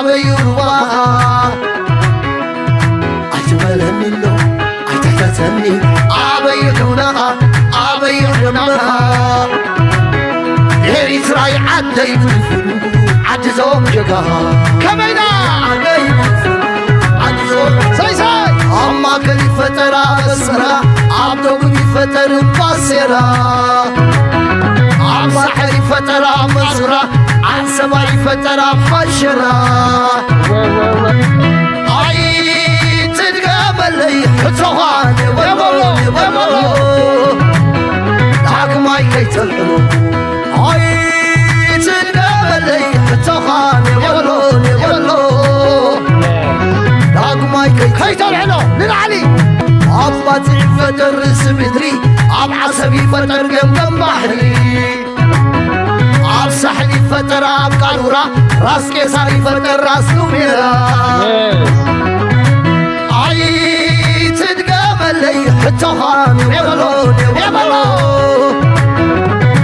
ኣበይ ሩባኻ ኣይትበለኒ ኣሎ ኣይትሕተተኒ ኣበይ ዑናኻ ኣበይ ዕድመኻ ኤሪትራይ ዓደይ ፍልፍሉ ዓዲ ዞም ጀጋኻ ከመይና ዓደይ ፍልፍሉ ዓዲ ዞም ሳይሳይ ኣብ ማእከል ይፈጠራ ኣስመራ ኣብ ደቡብ ይፈጠር ባሴራ ኣብ ሳሕል ይፈጠራ መዙራ ዓንሰባ ይፈጠራ ሓሸራ ኣይትድገመለይ ሕቶኻ ንበሎ ንበሎ ዳግማይ ከይተልዕሎ ኣይትድገመለይ ሕቶኻ ንበሎ ንበሎ ዳግማይ ከይተልዕሎ ንላዕሊ ኣብ ባጽዕ ይፈጠር ርእሲ ምድሪ ኣብ ዓሰብ ይፈጠር ገምገም ባሕሪ ኣብ ሳሕል ይፈጠር ኣብ ቃሉራ ራስ ቄሳር ይፈጠር ራስ ኑሜራ ኣይትድገመለይ ሕቶኻ ንበሎ ንበሎ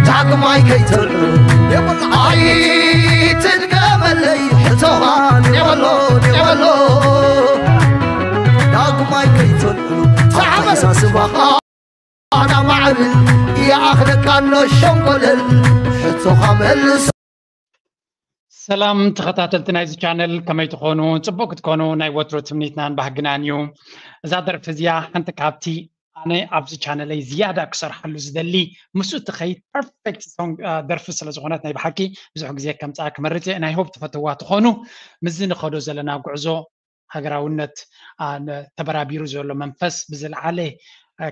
ዳግማይ ከይተልዕሎ ኣይትድገመለይ ሕቶኻ ንበሎ ንበሎ ዳግማይ ከይተልዕሎ ኣተሓሳስባኻ ኣና ማዕብል ይኣኽለካ ኣሎ ሸንኮለል ሕቶኻ መልሶ ሰላም ተኸታተልቲ ናይዚ ቻነል ከመይ ትኾኑ? ፅቡቅ ክትኮኑ ናይ ወትሮ ትምኒትናን ባህግናን እዩ። እዛ ደርፊ እዚኣ ሓንቲ ካብቲ ኣነ ኣብዚ ቻነለይ ዝያዳ ክሰርሓሉ ዝደሊ ምስኡ ትኸይድ ፐርፌክት ደርፊ ስለ ዝኾነት ናይ ብሓቂ ብዙሕ ግዜ ከምፅኣ ክመርፅ እየ። ናይ ሆፕ ትፈትዋ ትኾኑ ምስዚ ንኸዶ ዘለና ጉዕዞ ሃገራውነት ተበራቢሩ ዘሎ መንፈስ ብዝለዓለ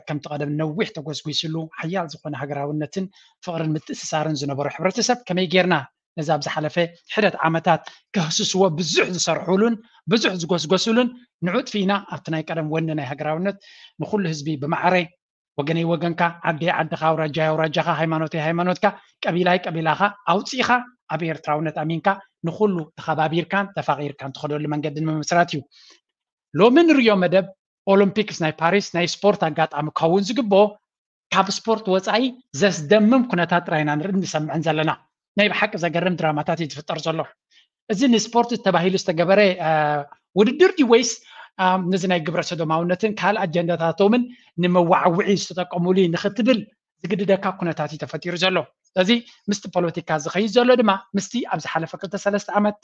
ከምቲ ቀደም ነዊሕ ተጎስጒስሉ ሓያል ዝኾነ ሃገራውነትን ፍቕርን ምትእስሳርን ዝነበሮ ሕብረተሰብ ከመይ ጌርና ነዚ ኣብ ዝሓለፈ ሕደት ዓመታት ከህስስዎ ብዙሕ ዝሰርሑሉን ብዙሕ ዝጎስጎስሉን ንዑ ጥፊእና ኣብቲ ናይ ቀደም ወኒ ናይ ሃገራውነት ንኹሉ ህዝቢ ብማዕረ ወገነይ ወገንካ ዓደይ ዓድኻ ኣውራጃይ ኣውራጃኻ ሃይማኖተይ ሃይማኖትካ ቀቢላይ ቀቢላኻ ኣውፂእኻ ኣብ ኤርትራውነት ኣሚንካ ንኹሉ ተኸባቢርካን ተፋቒርካን ትኸደሉ መንገዲ ንምምስራት እዩ። ሎሚ ንሪኦ መደብ ኦሎምፒክስ ናይ ፓሪስ ናይ ስፖርት ኣጋጣሚ ክኸውን ዝግብኦ ካብ ስፖርት ወፃኢ ዘስደምም ኩነታት ጥራይ ኢና ንርኢ ንሰምዕን ዘለና። ናይ ብሓቂ ዘገርም ድራማታት እዩ ዝፍጠር ዘሎ። እዚ ንስፖርት ተባሂሉ ዝተገበረ ውድድር ድዩ ወይስ ነዚ ናይ ግብረ ሰዶማውነትን ካልእ ኣጀንዳታቶምን ንመዋዓውዒ ዝተጠቀሙሉ እዩ ንኽትብል ዝግድደካ ኩነታት እዩ ተፈጢሩ ዘሎ። ስለዚ ምስቲ ፖለቲካ ዝኸይድ ዘሎ ድማ ምስቲ ኣብ ዝሓለፈ ክልተ ሰለስተ ዓመት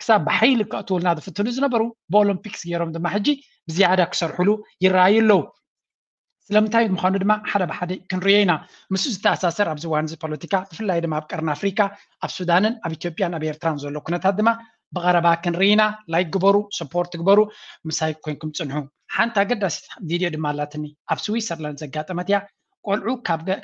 ክሳብ ብሓይሊ ከእትውልና ዝፍትኑ ዝነበሩ ብኦሎምፒክስ ገይሮም ድማ ሕጂ ብዝያዳ ክሰርሕሉ ይረኣዩ ኣለዉ። ስለምንታይ ምዃኑ ድማ ሓደ ብሓደ ክንርእዮ ኢና። ምስኡ ዝተኣሳሰር ኣብዚ እዋን እዚ ፖለቲካ ብፍላይ ድማ ኣብ ቀርኒ ኣፍሪካ ኣብ ሱዳንን ኣብ ኢትዮጵያን ኣብ ኤርትራን ዘሎ ኩነታት ድማ ብቐረባ ክንርኢ ኢና። ላይክ ግበሩ፣ ሰፖርት ግበሩ፣ ምሳይ ኮይንኩም ፅንሑ። ሓንቲ ኣገዳሲት ቪድዮ ድማ ኣላትኒ ኣብ ስዊሰርላንድ ዘጋጠመት እያ። ቆልዑ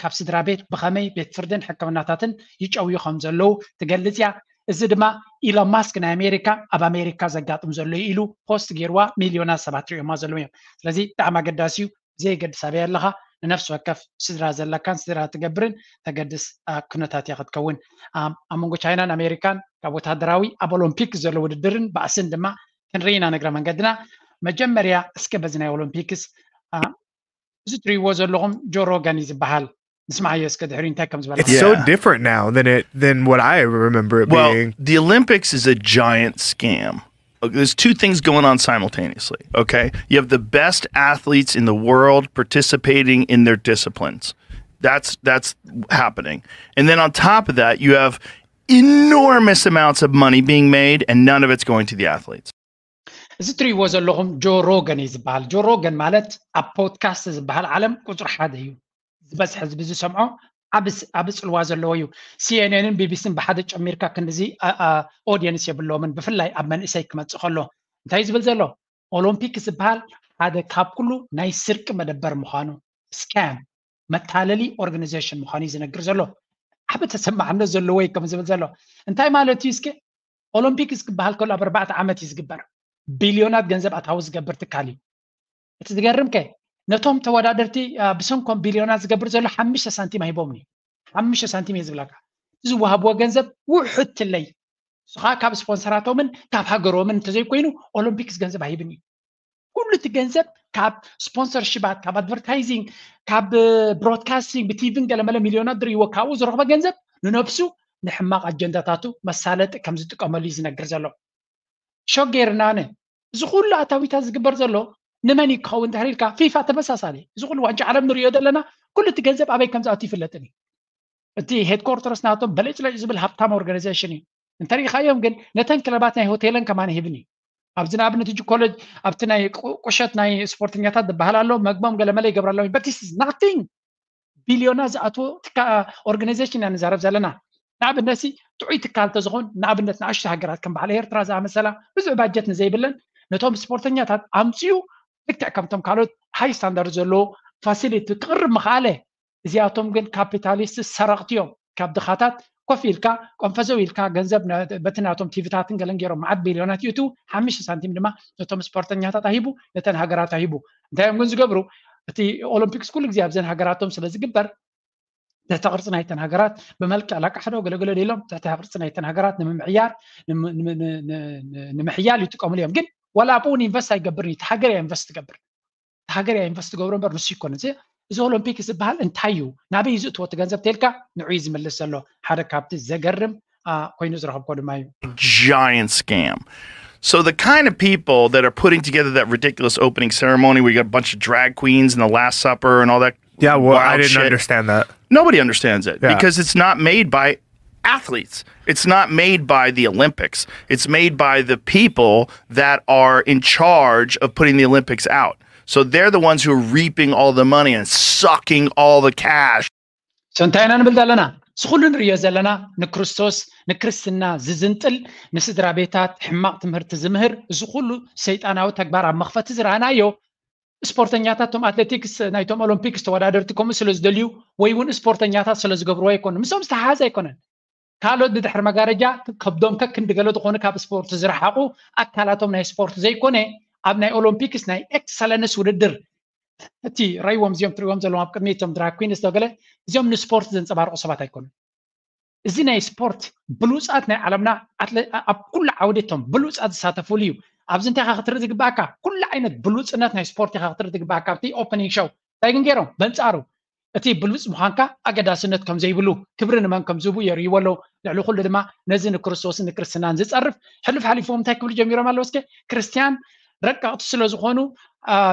ካብ ስድራ ቤት ብኸመይ ቤት ፍርድን ሕክምናታትን ይጨውዩ ከም ዘለዉ ትገልፅ እያ። እዚ ድማ ኢሎን ማስክ ናይ ኣሜሪካ ኣብ ኣሜሪካ ዘጋጥም ዘሎ ኢሉ ፖስት ገይርዋ ሚልዮናት ሰባት ሪኦማ ዘለዉ እዮም። ስለዚ ብጣዕሚ ኣገዳሲ እዩ። ብዘየገድስ ኣበይ ኣለኻ ንነፍሲ ወከፍ ስድራ ዘለካን ስድራ ትገብርን ተገድስ ኩነታት እያ ክትከውን። ኣብ መንጎ ቻይናን ኣሜሪካን ካብ ወታደራዊ ኣብ ኦሎምፒክ ዘሎ ውድድርን ባእስን ድማ ክንርኢ ኢና ንግረ መንገድና። መጀመርያ እስከ በዚ ናይ ኦሎምፒክስ እዚ ትሪእዎ ዘለኹም ጆ ሮገን እዩ ዝበሃል። ንስማዓዮ እስከ ድሕሪ እንታይ ከም ዝበለ። It's so different now than it than what I remember it Well, being. the Olympics is a giant scam. There's two things going on simultaneously. Okay, you have the best athletes in the world participating in their disciplines. That's that's happening, and then on top of that, you have enormous amounts of money being made, and none of it's going to the athletes. እዚ ትሪእዎ ዘለኹም ጆ ሮገን እዩ ዝበሃል። ጆ ሮገን ማለት ኣብ ፖድካስት ዝበሃል ዓለም ቁፅሪ ሓደ እዩ። ዝበዝሕ ህዝቢ ዝሰምዖ ዓቢ ፅልዋ ዘለዎ እዩ። ሲኤንኤንን ቢቢሲን ብሓደ ጨሚርካ ክንድዚ ኦድየንስ የብሎምን፣ ብፍላይ ኣብ መንእሰይ ክመፅእ ከሎ። እንታይ ዝብል ዘሎ? ኦሎምፒክ ዝበሃል ሓደ ካብ ኩሉ ናይ ስርቂ መደበር ምዃኑ፣ ስካም፣ መታለሊ ኦርጋናይዜሽን ምዃኑ እዩ ዝነግር ዘሎ። ዓቢ ተሰማዕነት ዘለዎ እዩ ከም ዝብል ዘሎ። እንታይ ማለት እዩ እስኪ? ኦሎምፒክስ ክበሃል ከሎ ኣብ ኣርባዕተ ዓመት እዩ ዝግበር። ቢልዮናት ገንዘብ ኣታዊ ዝገብር ትካል እዩ። እቲ ዝገርም ከ ነቶም ተወዳደርቲ ብሰንኮም ቢልዮናት ዝገብር ዘሎ ሓሙሽተ ሳንቲም ኣይቦምን እዩ። ሓሙሽተ ሳንቲም እየ ዝብለካ። ዝወሃብዎ ገንዘብ ውሑድ ትለይ። ንሱ ከዓ ካብ ስፖንሰራቶምን ካብ ሃገሮምን እንተዘይኮይኑ ኦሎምፒክስ ገንዘብ ኣይህብን እዩ። ኩሉ እቲ ገንዘብ ካብ ስፖንሰርሽባት፣ ካብ ኣድቨርታይዚንግ፣ ካብ ብሮድካስቲንግ፣ ብቲቪን ገለመለ ሚልዮናት ዝርእይዎ ካብኡ ዝረኽቦ ገንዘብ ንነብሱ ንሕማቕ ኣጀንዳታቱ መሳለጢ ከም ዝጥቀመሉ እዩ ዝነግር ዘሎ። ሸገርናነ እዚ ኩሉ ኣታዊታት ዝግበር ዘሎ ንመን እዩ ክኸውን ድሕሪ ኢልካ ፊፋ ተመሳሳሊ እዚ ኩሉ ዋንጫ ዓለም ንሪኦ ዘለና ኩሉ እቲ ገንዘብ ኣበይ ከም ዝኣቱ ይፍለጥን እዩ። እቲ ሄድኮርተርስ ናቶም በለጭለጭ ዝብል ሃብታም ኦርጋናይዜሽን እዩ። እንተሪኢኻዮም ግን ነተን ክለባት ናይ ሆቴለን ከማን ሂብን እዩ። ኣብዚ ንኣብነት እጅ ኮሌጅ ኣብቲ ናይ ቁሸት ናይ ስፖርተኛታት ዝበሃል ኣሎ መግቦም ገለመለ ይገብረሎም በቲስ ናቲንግ ቢልዮና ዝኣትዎ ኦርጋናይዜሽን ኢና ንዛረብ ዘለና። ንኣብነት ጥዑይ ትካል ተዝኾን ንኣብነት ንኣሽቱ ሃገራት ከም በዓል ኤርትራ ዝኣመሰላ ብዙሕ ባጀት ንዘይብለን ነቶም ስፖርተኛታት ኣምፅኡ ልክዕ ከምቶም ካልኦት ሃይ ስታንዳርድ ዘለዎ ፋሲሊቲ ክቕርብ ምኽኣለ። እዚኣቶም ግን ካፒታሊስት ሰረቕቲ እዮም። ካብ ድኻታት ኮፍ ኢልካ ቆንፈዘው ኢልካ ገንዘብ በቲ ናቶም ቲቪታትን ገለን ገይሮም መዓት ቢልዮናት ይእትው ሓሙሽተ ሳንቲም ድማ ነቶም ስፖርተኛታት ኣሂቡ ነተን ሃገራት ኣሂቡ። እንታይ እዮም ግን ዝገብሩ? እቲ ኦሎምፒክስ ኩሉ ግዜ ኣብዘን ሃገራቶም ስለ ዝግበር ትሕተ ቅርፂ ናይተን ሃገራት ብመልክዕ ላቃሕዶ ገለገለ ኢሎም ትሕተ ቅርፂ ናይተን ሃገራት ንምምዕያር ንምሕያል ይጥቀምሉ እዮም። ግን ዋላ ኣብኡ ኢንቨስት ኣይገብርን እዩ። ሃገር እያ ኢንቨስት ትገብር። ሃገር እያ ኢንቨስት ትገብሮ እምበር ንሱ ይኮነ እዚ ኦሎምፒክ ዝበሃል እንታይ እዩ ናበይ ዝእትዎ እቲ ገንዘብ ተልካ ንዑ ዝምልስ ዘሎ ሓደ ካብቲ ዘገርም ኮይኑ ዝረኸብኮ ድማ እዩ። Giant scam. So the kind of people that are putting together that ridiculous opening ceremony where you got a bunch of drag queens and the Last Supper and all that. Yeah, well, I didn't shit. understand that. Nobody understands it yeah. because it's not made by athletes. It's not made by the Olympics. It's made by the people that are in charge of putting the Olympics out. So they're the ones who are reaping all the money and sucking all the cash. So እንታይ ኢና ንብል ዘለና? እዚ ኩሉ ንሪኦ ዘለና ንክርስቶስ ንክርስትና ዝዝንጥል ንስድራ ቤታት ሕማቕ ትምህርቲ ዝምህር እዚ ኩሉ ሰይጣናዊ ተግባር ኣብ መኽፈቲ ዝረኣናዮ ስፖርተኛታት ቶም ኣትሌቲክስ ናይቶም ኦሎምፒክስ ተወዳደርቲ ከምኡ ስለ ዝደልዩ ወይ እውን ስፖርተኛታት ስለ ዝገብርዎ ኣይኮኑ። ምስኦም ዝተሓሓዝ ኣይኮነን። ካልኦት ብድሕሪ መጋረጃ ከብዶም ከክንዲ ገለ ዝኾኑ ካብ ስፖርት ዝረሓቑ ኣካላቶም ናይ ስፖርት ዘይኮነ ኣብ ናይ ኦሎምፒክስ ናይ ኤክሰለንስ ውድድር እቲ ረይዎም እዚኦም ትሪዎም ዘለዎም ኣብ ቅድሚ እቶም ድራግ ኩንስ ገለ እዚኦም ንስፖርት ዘንፀባርቑ ሰባት ኣይኮኑን። እዚ ናይ ስፖርት ብሉፃት ናይ ዓለምና ኣብ ኩሉ ዓውዲ እቶም ብሉፃት ዝሳተፉሉ እዩ። ኣብዚ እንታይ ኢኻ ክትርኢ ዝግባኣካ? ኩሉ ዓይነት ብሉፅነት ናይ ስፖርት ኢኻ ክትርኢ ዝግባኣካ። ኣብቲ ኦፐኒንግ ሾው እንታይ ግን ገይሮም በንፃሩ እቲ ብሉፅ ምዃንካ ኣገዳስነት ከም ዘይብሉ ክብሪ ንመን ከም ዝህቡ የርእይዎ ኣለዉ። ልዕሊ ኩሉ ድማ ነዚ ንክርስቶስን ንክርስትናን ዝፀርፍ ሕሉፍ ሓሊፎም እንታይ ክብሉ ጀሚሮም ኣለዉ? እስከ ክርስትያን ረቀቕቲ ስለ ዝኾኑ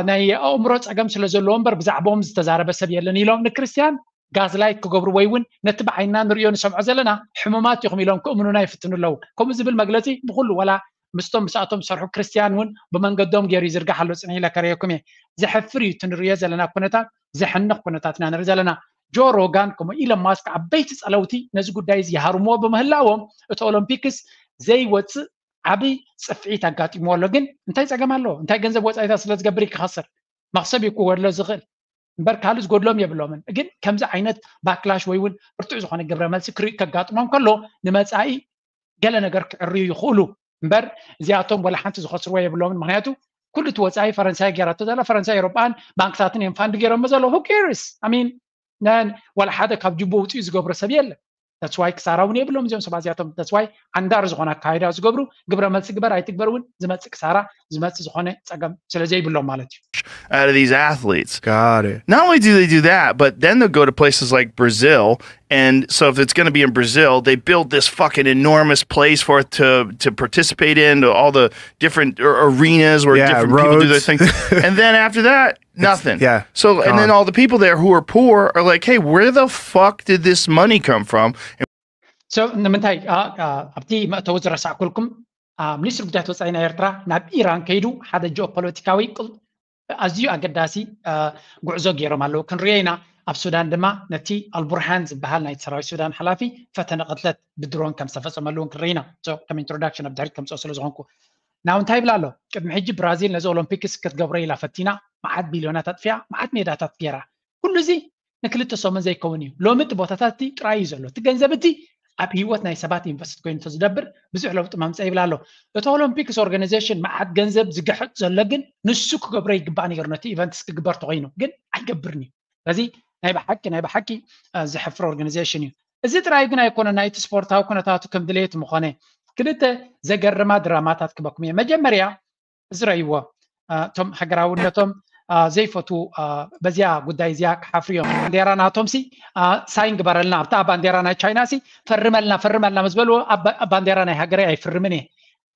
ናይ ኣእምሮ ፀገም ስለ ዘለዎ እምበር ብዛዕባኦም ዝተዛረበ ሰብ የለን ኢሎም ንክርስትያን ጋዝላይት ክገብሩ ወይ እውን ነቲ ብዓይንና ንሪኦ ንሰምዖ ዘለና ሕሙማት ኢኹም ኢሎም ክእምኑና ይፍትኑ ኣለዉ። ከምኡ ዝብል መግለፂ ብኩሉ ዋላ ምስቶም ምስኣቶም ዝሰርሑ ክርስትያን እውን ብመንገዶም ገይሩ ይዝርጋሕ ኣሎ። ፅንሕ ኢለ ከርእየኩም እየ። ዘሕፍር እዩ እቲ ንሪኦ ዘለና ኩነታት፣ ዘሕንቕ ኩነታት ኢና ንርኢ ዘለና። ጆ ሮጋን ከምኡ ኢለን ማስክ ዓበይቲ ፀለውቲ ነዚ ጉዳይ እዚ ይሃርምዎ ብምህላዎም እቲ ኦሎምፒክስ ዘይወፅእ ዓብይ ፅፍዒት ኣጋጢምዎ ኣሎ። ግን እንታይ ፀገም ኣለዎ? እንታይ ገንዘብ ወፃኢታት ስለ ዝገብር እዩ ክኸስር? መኽሰብ እዩ ክጎድሎ ዝኽእል እምበር ካልእ ዝጎድሎም የብሎምን። ግን ከምዚ ዓይነት ባክላሽ ወይ እውን ብርቱዕ ዝኾነ ግብረ መልሲ ክርኢ ከጋጥሞም ከሎ ንመፃኢ ገለ ነገር ክዕርዩ ይኽእሉ እምበር እዚኣቶም ወላ ሓንቲ ዝኸስርዎ የብሎምን። ምክንያቱ ኩሉ እቲ ወፃኢ ፈረንሳይ ገይራቶ ዘላ ፈረንሳይ ኤሮጳን ባንክታትን እዮም ፋንድ ገይሮሞ ዘለዉ። Who cares? I mean ነን ዋላ ሓደ ካብ ጅቡ ውፅኡ ዝገብሮ ሰብ የለን። That's why ክሳራ እውን የብሎም እዚኦም ሰባት እዚኣቶም። That's why ዓንዳር ዝኾነ ኣካይዳ ዝገብሩ ግብረ መልሲ ግበር ኣይትግበር እውን ዝመፅእ ክሳራ ዝመፅእ ዝኾነ ፀገም ስለ ዘይብሎም ማለት እዩ። Out of these athletes. Got it. Not only do they do that, but then they'll go to places like Brazil. And so if it's going to be in Brazil, they build this fucking enormous place for it to to participate in, all the different arenas where yeah, different roads. people do their thing. And then after that, nothing. Yeah. So, and then all the people there who are poor are like, hey, where the fuck did this money come from? So ንምንታይ ኣብቲ መእተዊ ዝረሳዕኩልኩም ሚኒስትሪ ጉዳያት ወፃኢ ናይ ኤርትራ ናብ ኢራን ከይዱ ሓደ ጂኦፖለቲካዊ ኣዝዩ ኣገዳሲ ጉዕዞ ገይሮም ኣለዉ። ክንሪኦ ኢና። ኣብ ሱዳን ድማ ነቲ ኣልቡርሃን ዝበሃል ናይ ሰራዊት ሱዳን ሓላፊ ፈተነ ቅትለት ብድሮን ከም ዝተፈፀመሉ እውን ክንርኢ ኢና። ከም ኢንትሮዳክሽን ኣብ ድሕሪት ከምፅኦ ስለ ዝኾንኩ ናብ እንታይ ይብል ኣሎ? ቅድሚ ሕጂ ብራዚል ነዚ ኦሎምፒክስ ክትገብሮ ኢላ ፈቲና፣ መዓት ቢልዮናት ኣጥፊኣ፣ መዓት ሜዳታት ገይራ። ኩሉ እዚ ንክልተ ሰሙን ዘይከውን እዩ። ሎሚ እቲ ቦታታት እቲ ጥራይ እዩ ዘሎ። እቲ ገንዘብ እቲ ኣብ ህይወት ናይ ሰባት ኢንቨስት ኮይኑ ተዝደብር ብዙሕ ለውጢ መምፀ ይብል ኣሎ። እቲ ኦሎምፒክስ ኦርጋናይዜሽን መዓት ገንዘብ ዝግሕጥ ዘሎ ግን ንሱ ክገብሮ ይግባእ ነይሩ ነቲ ኢቨንትስ ክግበር ተኮይኑ ግን ኣይገብርን እዩ። ስለዚ ናይ ብሓቂ ናይ ብሓቂ ዘሕፍር ኦርጋናይዜሽን እዩ። እዚ ጥራይ ግን ኣይኮነ ናይቲ ስፖርታዊ ኩነታቱ ከም ድሌት ምኾነ ክልተ ዘገርማ ድራማታት ክበኩም እየ። መጀመርያ ዝረይዎ እቶም ሃገራውነቶም ዘይፈትዉ በዚኣ ጉዳይ እዚኣ ክሓፍሩ እዮም። ባንዴራ ናቶም ሲ ሳይን ግበረልና ኣብታ ባንዴራ ናይ ቻይና ሲ ፈርመልና ፈርመልና ምስ በልዎ ባንዴራ ናይ ሃገረይ ኣይፍርምን እየ።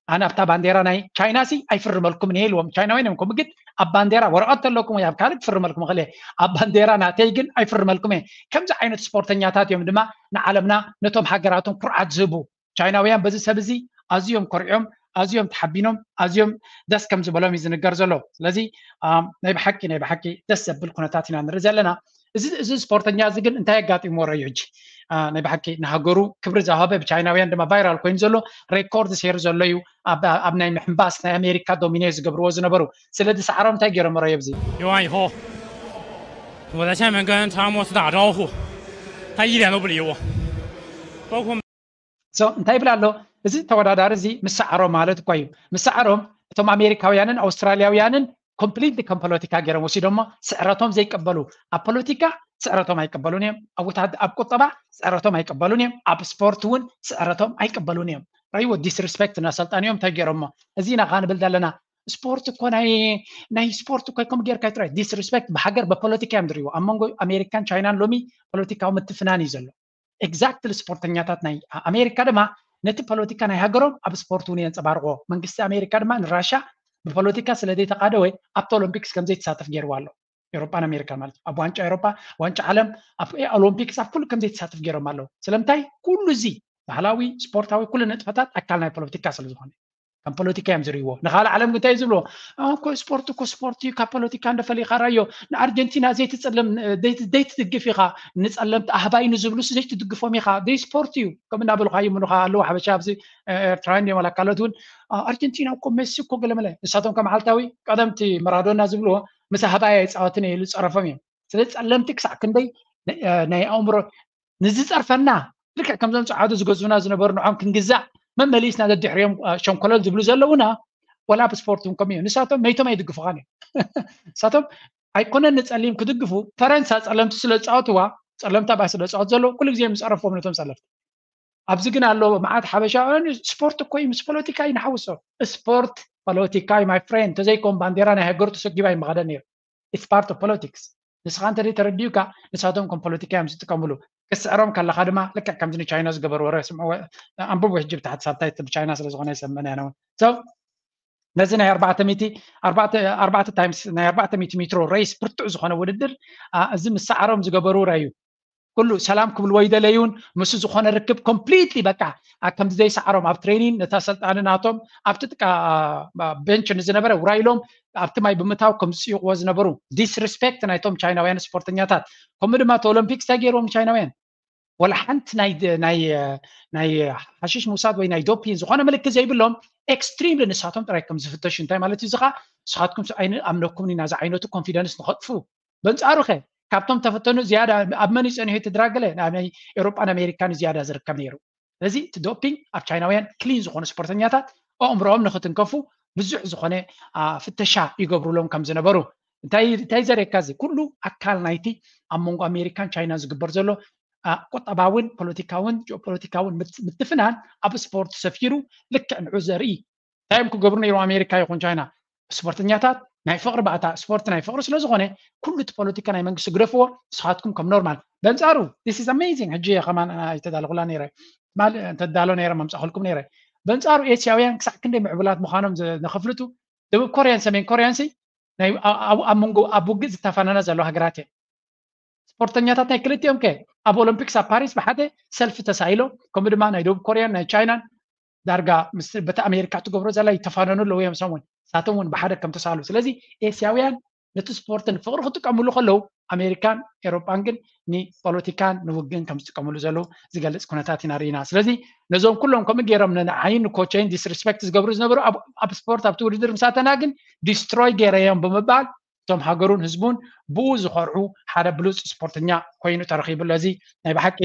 ኣነ ኣብታ ባንዴራ ናይ ቻይና ሲ ኣይፍርመልኩም እየ ኢልዎም። ቻይናውያን እዮም ከምኡ፣ ግን ኣብ ባንዴራ ወረቐት ተለኩም ወይ ኣብ ካልእ ክፍርመልኩም እኽእል እየ፣ ኣብ ባንዴራ ናተይ ግን ኣይፍርመልኩም እየ። ከምዚ ዓይነት ስፖርተኛታት እዮም ድማ ንዓለምና ነቶም ሃገራቶም ኩርዓት ዝህቡ። ቻይናውያን በዚ ሰብ እዚ ኣዝዮም ኮሪዖም፣ ኣዝዮም ተሓቢኖም፣ ኣዝዮም ደስ ከም ዝበሎም እዩ ዝንገር ዘሎ። ስለዚ ናይ ብሓቂ ናይ ብሓቂ ደስ ዘብል ኩነታት ኢና ንርኢ ዘለና። እዚ እዚ ስፖርተኛ እዚ ግን እንታይ ኣጋጢምዎ ረዩ ሕጂ? ናይ ብሓቂ ንሃገሩ ክብሪ ዝሃበ፣ ብቻይናውያን ድማ ቫይራል ኮይኑ ዘሎ፣ ሬኮርድ ሰይሩ ዘሎ እዩ። ኣብ ናይ ምሕንባስ ናይ ኣሜሪካ ዶሚኔ ዝገብርዎ ዝነበሩ። ስለዚ ሳዕሮም እንታይ ገይሮም ረዩ ኣብዚ? 游完以后，我在下面跟查尔莫斯打招呼，他一点都不理我，包括 እንታይ ይብል ኣሎ እዚ ተወዳዳሪ እዚ? ምስ ሳዕሮም ማለት እኮ እዩ። ምስ ሳዕሮም እቶም ኣሜሪካውያንን ኣውስትራሊያውያንን ኮምፕሊትሊ ከም ፖለቲካ ገይሮም ወሲዶሞ። ስዕረቶም ዘይቀበሉ፣ ኣብ ፖለቲካ ስዕረቶም ኣይቀበሉን እዮም። ኣብ ቁጠባ ስዕረቶም ኣይቀበሉን እዮም። ኣብ ስፖርት እውን ስዕረቶም ኣይቀበሉን እዮም። ረይዎ ዲስሪስፔክት እናሰልጣን እዮም እንታይ ገይሮሞ? እዚ ኢና ከዓ ንብል ዘለና። ስፖርት እኮ ናይ ናይ ስፖርት እኮ ከም ጌርካ ጥራይ ዲስሪስፔክት ብሃገር ብፖለቲካ እዮም ዝሪዎ። ኣብ መንጎ ኣሜሪካን ቻይናን ሎሚ ፖለቲካዊ ምትፍናን እዩ ዘሎ። ኤግዛክትሊ ስፖርተኛታት ናይ ኣሜሪካ ድማ ነቲ ፖለቲካ ናይ ሃገሮም ኣብ ስፖርት እውን የንፀባርቆ። መንግስቲ ኣሜሪካ ድማ ንራሻ ብፖለቲካ ስለ ዘይተቃደወ ኣብቲ ኦሎምፒክስ ከም ዘይተሳተፍ ገይርዋ ኣሎ። ኤሮጳን ኣሜሪካን ማለት ኣብ ዋንጫ ኤሮጳ፣ ዋንጫ ዓለም፣ ኣብ ኦሎምፒክስ ኣብ ኩሉ ከም ዘይተሳተፍ ገይሮም ኣለዉ። ስለምንታይ? ኩሉ እዚ ባህላዊ ስፖርታዊ ኩሉ ንጥፈታት ኣካል ናይ ፖለቲካ ስለ ዝኾነ ከም ፖለቲካ እዮም ዝርእይዎ። ንኻልእ ዓለም እንታይ ዝብሎ እኮ ስፖርት እኮ ስፖርት እዩ፣ ካብ ፖለቲካ እንደፈሊኻ ራዮ። ንኣርጀንቲና ዘይትጸለም ዘይትድግፍ ኢኻ፣ ንጸለምቲ ኣህባይ ንዝብሉ ዘይትድግፎም ኢኻ። ደይ ስፖርት እዩ ከም እናበልኻዮ ምንኻ ኣለዉ ሓበሻ ኣብዚ ኤርትራውያን እዮም ኣካሎት እውን ኣርጀንቲና እኮ ሜሲ እኮ ገለመለ። ንሳቶም ከመዓልታዊ ቀደምቲ መራዶና ዝብልዎ ምስ ኣህባይ ኣይፃወትን ኢሉ ዝፀረፎም እዮም። ስለዚ ጸለምቲ ክሳዕ ክንደይ ናይ ኣእምሮ ንዝጸርፈና ልክዕ ከምዞም ጸዓዱ ዝገዙና ዝነበሩ ንዖም ክንግዛእ መመሊስና ደድሕሪኦም ሸንኮለል ዝብሉ ዘለውና ወላ ብስፖርት እውን ከምኡ እዮም። ንሳቶም መይቶም ኣይድግፉኻን እዮም። ንሳቶም ኣይኮነን ንጸሊም ክድግፉ ፈረንሳ ጸለምቲ ስለ ዝጻወትዋ ጸለምታ ባ ስለ ዝጻወት ዘለዉ ኩሉ ግዜ ምጸረፎም ነቶም ጸለምቲ። ኣብዚ ግን ኣሎ መዓት ሓበሻ ስፖርት እኮ እዩ ምስ ፖለቲካ እዩ ንሓውሶ። ስፖርት ፖለቲካ እዩ my friend። ተዘይኮም ባንዴራ ናይ ሃገሩ ተሰጊባ ይመኸደ ነይሩ። It's part of politics። ንስኻ እንተ ተረዲኡካ ንሳቶም ከም ፖለቲካ እዮም ዝጥቀምሉ። ክስዕሮም ከለኻ ድማ ልክዕ ከምዚ ንቻይና ዝገበርዎ ረ ስምዕዎ ኣንብቡ ሕጂ ብታሕቲ ሳብታይትል ቻይና ስለ ዝኾነ ይሰምዕን ያነውን so ነዚ ናይ ኣርባዕተ ሚእቲ ኣርባዕተ ታይምስ ናይ ኣርባዕተ ሚእቲ ሜትሮ ሬስ ብርቱዕ ዝኾነ ውድድር እዚ ምስ ሳዕሮም ዝገበሩ ረዩ ኩሉ ሰላም ክብልዎ ይደለዩን ምስ ዝኾነ ርክብ ኮምፕሊትሊ በቃ ከምዚ ዘይሰዓሮም ኣብ ትሬኒን ነታ ሰልጣኒ ናቶም ኣብቲ ጥቃ ቤንች ንዝነበረ ውራይሎም ኣብቲ ማይ ብምታው ከም ዝፅይቕዎ ዝነበሩ ዲስሪስፔክት ናይቶም ቻይናውያን ስፖርተኛታት ከምኡ ድማ እቲ ኦሎምፒክስ እንታይ ገይርዎም ቻይናውያን ወላ ሓንቲ ናይ ናይ ናይ ሓሽሽ ምውሳድ ወይ ናይ ዶፒን ዝኾነ ምልክት ዘይብሎም ኤክስትሪምሊ ንሳቶም ጥራይ ከም ዝፍተሹ እንታይ ማለት እዩ እዚ ከዓ ንስኻትኩም ኣይንኣምነኩም ኢና እዚ ዓይነቱ ኮንፊደንስ ንኸጥፉ በንጻሩ ከ ካብቶም ተፈተኑ ዝያዳ ኣብ መን ይጸንሑ እቲ ድራግ ገለ ናይ ኤሮጳን ኣሜሪካን ዝያዳ ዝርከብ ነይሩ ስለዚ እቲ ዶፒንግ ኣብ ቻይናውያን ክሊን ዝኾኑ ስፖርተኛታት ኣእምሮኦም ንክትንከፉ ብዙሕ ዝኾነ ፍተሻ ይገብሩሎም ከም ዝነበሩ እንታይ ዘርእየካ እዚ ኩሉ ኣካል ናይቲ ኣብ መንጎ ኣሜሪካን ቻይናን ዝግበር ዘሎ ቁጠባውን ፖለቲካውን ጂኦፖለቲካውን ምትፍናን ኣብ ስፖርት ሰፊሩ ልክዕ ንዑ ዘርኢ እንታይ እዮም ክገብሩ ነይሮም ኣሜሪካ ይኹን ቻይና ስፖርተኛታት ናይ ፍቅሪ ባእታ ስፖርት ናይ ፍቅሪ ስለዝኾነ ኩሉ እቲ ፖለቲካ ናይ መንግስቲ ግደፍዎ ንስኻትኩም ከም ኖርማል በንፃሩ this is amazing ሕጂ ከማን ኣይተዳለኹላ ነይረ ትማል እንተዳሎ ነይረ መምፃእኹልኩም ነይረ በንፃሩ ኤስያውያን ክሳዕ ክንደይ ምዕቡላት ምዃኖም ነኸፍልጡ ደቡብ ኮርያን ሰሜን ኮርያን ሲ ኣብ መንጎ ኣብ ውግእ ዝተፋነና ዘሎ ሃገራት እየን ስፖርተኛታት ናይ ክልቲኦም ከ ኣብ ኦሎምፒክስ ኣብ ፓሪስ ብሓደ ሰልፊ ተሳኢሎም ከምኡ ድማ ናይ ደቡብ ኮርያን ናይ ቻይናን ዳርጋ ምስ በቲ ኣሜሪካ ትገብሮ ዘላ ይተፋነኑ ኣለዉ እዮም ሰሙን ንሳቶም እውን ብሓደ ከም ተሳሉ ስለዚ ኤስያውያን ነቲ ስፖርትን ፍቅሪ ክጥቀምሉ ከለዉ ኣሜሪካን ኤሮጳን ግን ንፖለቲካን ንውግእን ከም ዝጥቀምሉ ዘለዉ ዝገልፅ ኩነታት ኢና ርኢና ስለዚ ነዞም ኩሎም ከምኡ ገይሮም ንዓይን ንኮቸይን ዲስሪስፔክት ዝገብሩ ዝነበሩ ኣብ ስፖርት ኣብቲ ውድድር ምሳተና ግን ዲስትሮይ ገይረዮም ብምባል እቶም ሃገሩን ህዝቡን ብኡ ዝኮርዑ ሓደ ብሉፅ ስፖርተኛ ኮይኑ ተረኪቡ ኣሎ እዚ ናይ ብሓቂ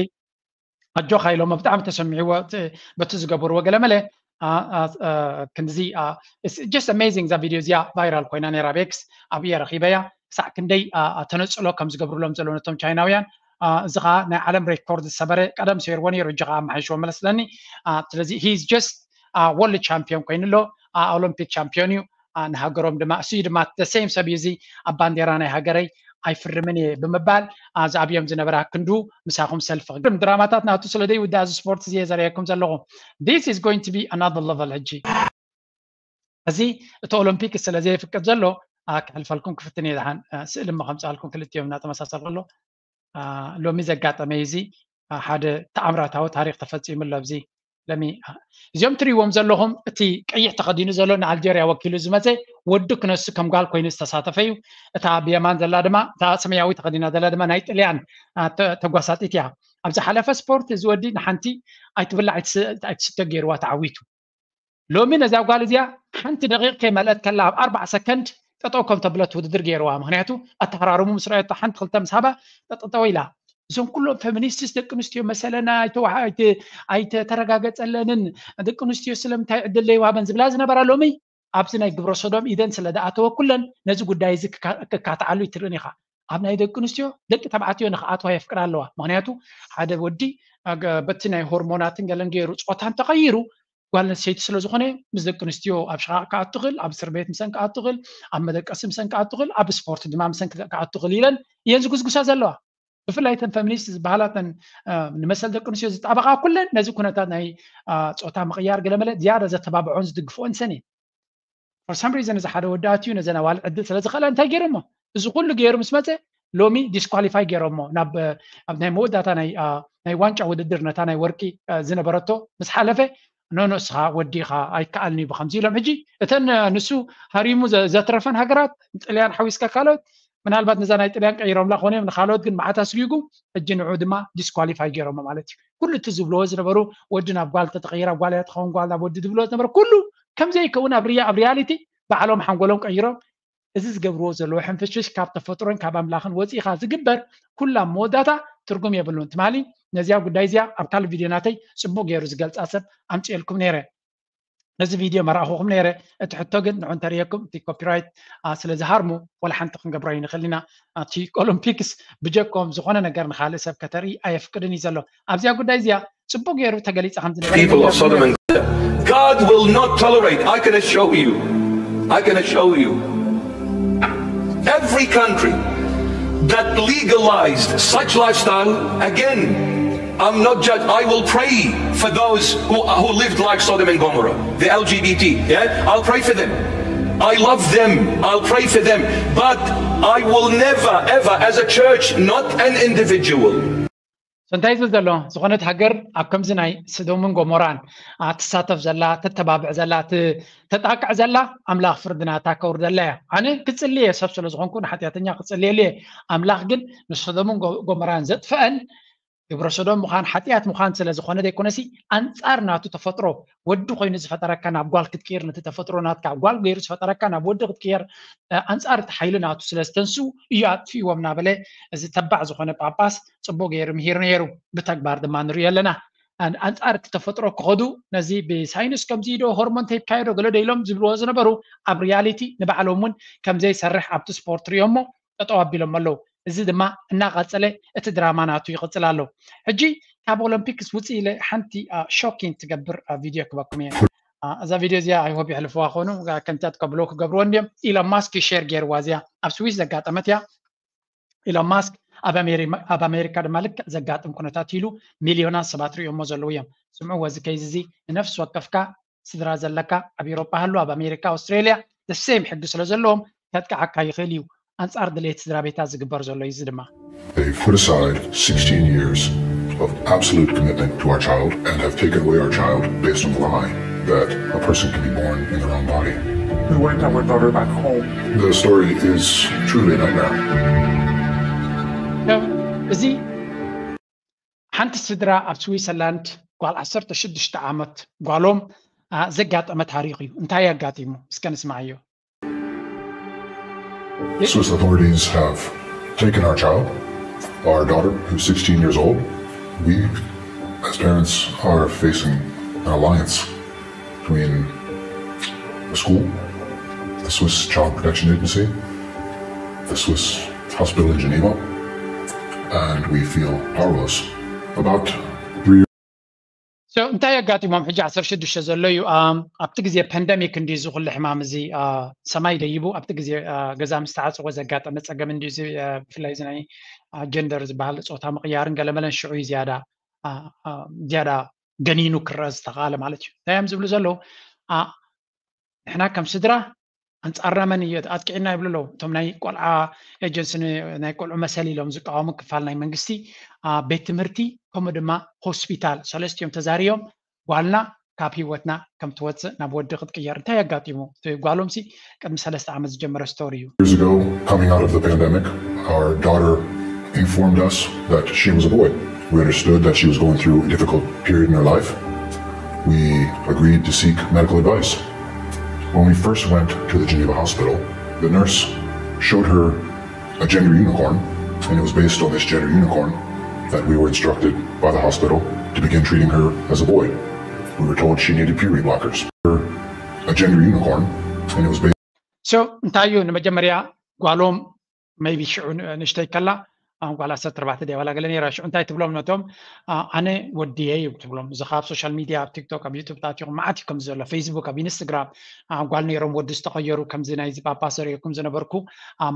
ኣጆኻ ኢሎሞ ብጣዕሚ ተሰሚዕዎ በቲ ዝገበርዎ ገለመለ ክንዚ just amazing እዛ ቪድዮ እዚኣ ቫይራል ኮይና ነይራ ቤክስ ኣብየ ረኪበያ ክሳዕ ክንደይ ተነፅሎ ከም ዝገብርሎም ዘሎ ነቶም ቻይናውያን እዚ ከዓ ናይ ዓለም ሬኮርድ ዝሰበረ ቀደም ሰይርዎ ነይሩ እጂ ከዓ ኣመሓይሽዎ መለስለኒ ስለዚ he's just world champion ኮይኑ ኣሎ ኦሎምፒክ ቻምፒዮን እዩ ንሃገሮም ድማ እሱ ድማ the same ሰብ እዩ እዚ ኣብ ባንዴራ ናይ ሃገረይ ኣይፍርምን እየ ብምባል ኣብዚ ኣብዮም ዝነበረ ክንዱ ምሳኹም ሰልፊ ክግርም ድራማታት ናቱ ስለ ዘይውዳእ እዚ ስፖርት እዚ እየ ዘርእየኩም ዘለኹ this is going to be another level ሕጂ እዚ እቲ ኦሎምፒክ ስለ ዘይፍቅድ ዘሎ ክሕልፈልኩም ክፍትን እየ። ደሓን ስእሊ እሞ ከምፅኣልኩም ክልቲኦም እናተመሳሰል ከሎ ሎሚ ዘጋጠመ እዚ ሓደ ተኣምራታዊ ታሪክ ተፈፂሙ ኣሎ። ኣብዚ ለሚ እዚኦም ትሪእዎም ዘለኹም እቲ ቀይሕ ተኸዲኑ ዘሎ ንኣልጀርያ ወኪሉ ዝመፀ ወዲ ክነሱ ከም ጓል ኮይኑ ዝተሳተፈ እዩ። እታ ብየማን ዘላ ድማ እታ ሰማያዊ ተኸዲና ዘላ ድማ ናይ ጥልያን ተጓሳጢት እያ። ኣብ ዝሓለፈ ስፖርት እዚ ወዲ ንሓንቲ ኣይትብላዕ ኣይትስተ ገይርዋ ተዓዊቱ። ሎሚ ነዛ ጓል እዚኣ ሓንቲ ደቂቕ ከይመልአት ከላ ኣብ ኣርባዓ ሰከንድ ጠጠው ከም ተብለት ውድድር ገይርዋ። ምክንያቱ ኣተሃራርሙ ምስ ረኣየቶ ሓንቲ ክልተ ምስ ሃባ ጠጠጠው ኢላ። እዞም ኩሎም ፌሚኒስትስ ደቂ ኣንስትዮ መሰለና ኣይተተረጋገፀለንን ደቂ ኣንስትዮ ስለምንታይ ዕድል ዘይወሃበን ዝብላ ዝነበራ ሎሚ ኣብዚ ናይ ግብረ ሶዶም ኢደን ስለ ዝኣተወ ኩለን ነዚ ጉዳይ እዚ ክካትዓሉ ይትርእን ኢኻ። ኣብ ናይ ደቂ ኣንስትዮ ደቂ ተባዕትዮ ንክኣትዋ የፍቅዳ ኣለዋ። ምክንያቱ ሓደ ወዲ በቲ ናይ ሆርሞናትን ገለን ገይሩ ፆታ እንተቐይሩ ጓል ኣንስተይቲ ስለ ዝኾነ ምስ ደቂ ኣንስትዮ ኣብ ሽቓቕ ክኣቱ ክእል፣ ኣብ እስር ቤት ምሰን ክኣቱ ክእል፣ ኣብ መደቀሲ ምሰን ክኣቱ ክእል፣ ኣብ ስፖርት ድማ ምሰን ክኣቱ ክእል ኢለን እየን ዝጉስጉሳ ዘለዋ። ብፍላይ ተን ፌሚኒስት ዝበሃላ ተን ንመሰል ደቂ ኣንስትዮ ዝጣበቓ ኩለን ነዚ ኩነታት ናይ ጾታ ምቕያር ገለመለ ዝያዳ ዘተባብዖን ዝድግፍኦን ሰን እየን። For some reason እዚ ሓደ ወዲ ኣትዩ ነዘን ኣዋልድ ዕድል ስለ ዝኸእላ እንታይ ገይሮሞ? እዚ ኩሉ ገይሩ ምስ መፀ ሎሚ ዲስኳሊፋይ ገይሮሞ ናብ ኣብ ናይ መወዳእታ ናይ ዋንጫ ውድድር ነታ ናይ ወርቂ ዝነበረቶ ምስ ሓለፈ ኖኖ እስኻ ወዲኻ ኣይከኣልን እዩ ብከምዚ ኢሎም። ሕጂ እተን ንሱ ሃሪሙ ዘትረፈን ሃገራት ጥልያን ሓዊስካ ካልኦት ምናልባት ነዛ ናይ ጥልያን ቀይሮምላ ክኾኑ እዮም ንካልኦት ግን መዓት ኣስጊጉ ሕጂ ንዑ ድማ ዲስኳሊፋይ ገይሮሞ ማለት እዩ። ኩሉ እቲ ዝብልዎ ዝነበሩ ወዲ ናብ ጓል ተተቐይራ ጓል እያ ትኸውን ጓል ናብ ወዲ ዝብልዎ ዝነበሩ ኩሉ ከምዘይከውን ኣብ ሪያ ኣብ ሪያሊቲ ባዕሎም ሓንጎሎም ቀይሮም እዚ ዝገብርዎ ዘለዉ ሕንፍሽፍሽ ካብ ተፈጥሮን ካብ ኣምላኽን ወፂእኻ ዝግበር ኩላ መወዳታ ትርጉም የብሉን። ትማሊ ነዚያ ጉዳይ እዚያ ኣብ ካልእ ቪድዮ ናተይ ፅቡቅ ገይሩ ዝገልፃ ሰብ ኣምፅኤልኩም ነይረ። ነዚ ቪድዮ መራእኹኹም ነይረ። እቲ ሕቶ ግን ንዑ እንተርእየኩም እቲ ኮፒራይት ስለ ዝሃርሙ ወላ ሓንቲ ክንገብሮ ይንኽእል ኢና። እቲ ኦሎምፒክስ ብጀኮም ዝኾነ ነገር ንኻልእ ሰብ ከተርኢ ኣየፍቅድን እዩ ዘሎ። ኣብዚኣ ጉዳይ እዚኣ ጽቡቅ ገይሩ ተገሊጻ ከም ዝነበረ People of Sodom and Gomorrah. God will not tolerate. I can assure you. I can assure you. Every country that legalized such lifestyle, again, I'm not judged. I will pray for those who, who lived like Sodom and Gomorrah, the L G B T. Yeah, I'll pray for them. I love them. I'll pray for them. But I will never, ever, as a church, not an individual. So እንታይ ዝብል ዘሎ ዝኾነት ሃገር ኣብ ከምዚ ናይ ስዶምን ጎሞራን ትሳተፍ ዘላ ተተባብዕ ዘላ ተጣቅዕ ዘላ ኣምላኽ ፍርድናታ ከውርደላ እያ። ኣነ ክጽልየ ሰብ ስለ ዝኾንኩ ንሓጢኣተኛ ክጽልየሉ እየ። ኣምላኽ ግን ንሶዶምን ጎሞራን ዘጥፍአን ግብረ ሶዶም ምዃን ሓጢኣት ምዃን ስለ ዝኾነ ዘይኮነሲ ኣንጻር ናቱ ተፈጥሮ ወዲ ኮይኑ ዝፈጠረካ ናብ ጓል ክትቅይር ነቲ ተፈጥሮ ናትካ ጓል ገይሩ ዝፈጠረካ ናብ ወዲ ክትቅየር ኣንጻር እቲ ሓይሊ ናቱ ስለ ዝተንስኡ እዩ ኣጥፊእዎም እናበለ እዚ ተባዕ ዝኾነ ጳጳስ ጽቡቅ ገይሩ ምሂሩ ነይሩ። ብተግባር ድማ ንሪኦ ኣለና። ኣንጻር እቲ ተፈጥሮ ክኸዱ ነዚ ብሳይንስ ከምዚ ዶ ሆርሞን ተይካየዶ ገለ ዶ ኢሎም ዝብልዎ ዝነበሩ ኣብ ሪያሊቲ ንባዕሎም እውን ከምዘይሰርሕ ኣብቲ ስፖርት ሪኦሞ ጠጠው ኣቢሎም ኣለዉ። እዚ ድማ እናቐጸለ እቲ ድራማ ናቱ ይቕጽል ኣሎ። ሕጂ ካብ ኦሎምፒክስ ውፅእ ኢለ ሓንቲ ሾኪንግ ትገብር ቪድዮ ክበኩም እየ። እዛ ቪድዮ እዚኣ ኣይሆብ የሕልፍዋ ኮኑ ከምታት ከብሎ ክገብርዎ እንዲዮም። ኢሎን ማስክ ዩ ሼር ገይርዋ እዚኣ ኣብ ስዊስ ዘጋጠመት እያ። ኢሎን ማስክ ኣብ ኣሜሪካ ድማ ልክዕ ዘጋጥም ኩነታት ኢሉ ሚልዮናት ሰባት ሪኦሞ ዘለዉ እዮም። ስምዕዎ እዚ ከይዚ እዚ ንነፍሲ ወከፍካ ስድራ ዘለካ ኣብ ኤሮጳ ሃሉ ኣብ ኣሜሪካ ኣውስትሬልያ ደሴም ሕጊ ስለ ዘለዎም ከጥቅዓካ ይኽእል እዩ። ኣንጻር ድሌት ስድራ ቤታት ዝግበር ዘሎ እዩ እዚ ድማ They've put aside sixteen years of absolute commitment to our child and have taken away our child based on the lie that a person can be born in the wrong body. We want our daughter back home. The story is truly a nightmare. እዚ ሓንቲ ስድራ ኣብ ስዊሰርላንድ ጓል ዓሰርተ ሽዱሽተ ዓመት ጓሎም ዘጋጠመ ታሪኽ እዩ። እንታይ ኣጋጢሙ? እስከ ንስማዓዮ። Swiss authorities have taken our child, our daughter, who's sixteen years old. We, as parents, are facing an alliance between the school, the Swiss Child Protection Agency, the Swiss hospital in Geneva, and we feel powerless. About three So እንታይ ኣጋጢሞም ሕጂ ዓሰርተ ሽዱሽተ ዘሎ እዩ። ኣብቲ ግዜ ፓንደሚክ እንዲ እዚ ኩሉ ሕማም እዚ ሰማይ ደይቡ ኣብቲ ግዜ ገዛ ምስ ተዓፀወ ዘጋጠመ ፀገም እንዲ እዚ ብፍላይ እዚ ናይ ጀንደር ዝበሃል ፆታ ምቕያርን ገለመለን ሽዑ እዩ ዝያዳ ዝያዳ ገኒኑ ክረአ ዝተኽኣለ ማለት እዩ። እንታይ እዮም ዝብሉ ዘለዉ? ንሕና ከም ስድራ ኣንጻርና መን እዩ ኣጥቂዕና ይብሉ ኣለዉ። እቶም ናይ ቆልዓ ኤጀንሲ፣ ናይ ቆልዑ መሰል ኢሎም ዝቃወሙ ክፋል ናይ መንግስቲ፣ ቤት ትምህርቲ፣ ከምኡ ድማ ሆስፒታል፣ ሰለስቲኦም ተዛርዮም ጓልና ካብ ህይወትና ከም ትወፅእ ናብ ወዲ ክትቅየር። እንታይ ኣጋጢሙ? እቲ ጓሎም ሲ ቅድሚ ሰለስተ ዓመት ዝጀመረ ስቶሪ እዩ። Years ago, coming out of the pandemic, our daughter informed us that she was a boy. We understood that she was going through a difficult period in her life. We agreed to seek medical advice. When we first went to the Geneva hospital, the nurse showed her a gender unicorn, and it was based on this gender unicorn that we were instructed by the hospital to begin treating her as a boy. We were told she needed puberty blockers. A gender unicorn, and it was based So እንታይ እዩ ንመጀመርያ ጓሎም maybe ሽዑ ንእሽተይ ከላ፣ ጓል ዓሰርተ ኣርባዕተ ድያ ዋላ ገለ ነይራ። ሽዑ እንታይ ትብሎም ነቶም? ኣነ ወድየ እዩ ትብሎም። እዚ ካብ ሶሻል ሚድያ፣ ኣብ ቲክቶክ፣ ኣብ ዩቱብ ታቲኹም መዓት እዩ ከምዚ ዘሎ፣ ፌስቡክ፣ ኣብ ኢንስትግራም። ጓል ነይሮም ወዲ ዝተቐየሩ፣ ከምዚ ናይዚ ጳጳስ ዘርእየኩም ዝነበርኩ፣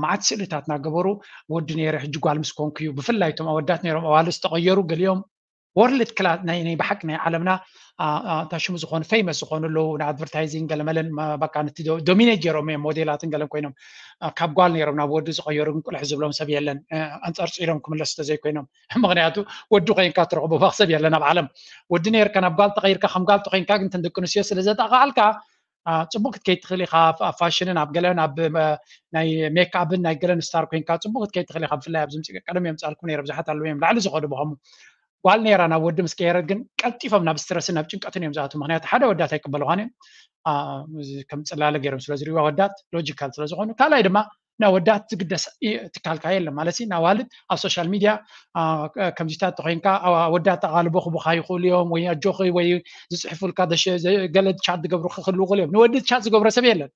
መዓት ስእልታት እናገበሩ፣ ወዲ ነይረ ሕጂ ጓል ምስ ኮንኩ እዩ። ብፍላይ እቶም ኣወዳት ነይሮም ኣዋልድ ዝተቐየሩ፣ ገሊኦም ወርልድ ክላስ ናይ ናይ ብሓቂ ናይ ዓለምና፣ እንታይ ሽሙ ዝኾኑ፣ ፌመስ ዝኾኑ ኣለዉ፣ ንኣድቨርታይዚንግ ገለመለን፣ በቃ ነቲ ዶሚኔት ገይሮም እዮም፣ ሞዴላትን ገለን ኮይኖም። ካብ ጓል ነይሮም ናብ ወዲ ዝቐየሩ ግን ቁልሕ ዝብሎም ሰብ የለን፣ ኣንጸርጺሮም ክምለሱ ተዘይኮይኖም። ምኽንያቱ ወዲ ኮይንካ ትረኽቦ ሰብ የለን ኣብ ዓለም። ወዲ ነይርካ ናብ ጓል ተቐይርካ ከም ጓል ተኾይንካ ግን እተን ደቂ ኣንስትዮ ስለ ዘጣቓዓልካ፣ ጽቡቅ ክትከይድ ትኽእል ኢኻ። ኣብ ፋሽንን ኣብ ገለን ኣብ ናይ ሜክኣፕን ናይ ገለን ስታር ኮይንካ ጽቡቅ ክትከይድ ትኽእል ኢኻ። ብፍላይ ኣብዚ ምጽእ ቀደም እዮም ጻልኩም ነይረ፣ ብዙሓት ኣለዉ እዮም ላዕሊ ዝኸዱ ብኸሙ። ጓል ነይራ ናብ ወዲ ምስ ቀየረት ግን ቀልጢፎም ናብ ስትረስን ናብ ጭንቀትን እዮም ዝኣትዉ። ምኽንያቱ ሓደ ወዳት ኣይቅበልዋን እዮም፣ ከም ጽላለ ገይሮም ስለ ዝሪእዋ ወዳት ሎጂካል ስለ ዝኾኑ፣ ካልኣይ ድማ ናብ ወዳት ዝግደስ ትካልካ የለን ማለት እዩ። ንኣዋልድ ኣብ ሶሻል ሚድያ ከምዚታት ተኮይንካ ወዳት ኣቓልቦ ክቡኻ ይኽእሉ እዮም፣ ወይ ኣጆኺ ወይ ዝፅሕፉልካ ገለ ቻት ዝገብሩ ክህልዉ ይኽእሉ እዮም። ንወዲ ቻት ዝገብረ ሰብ የለን።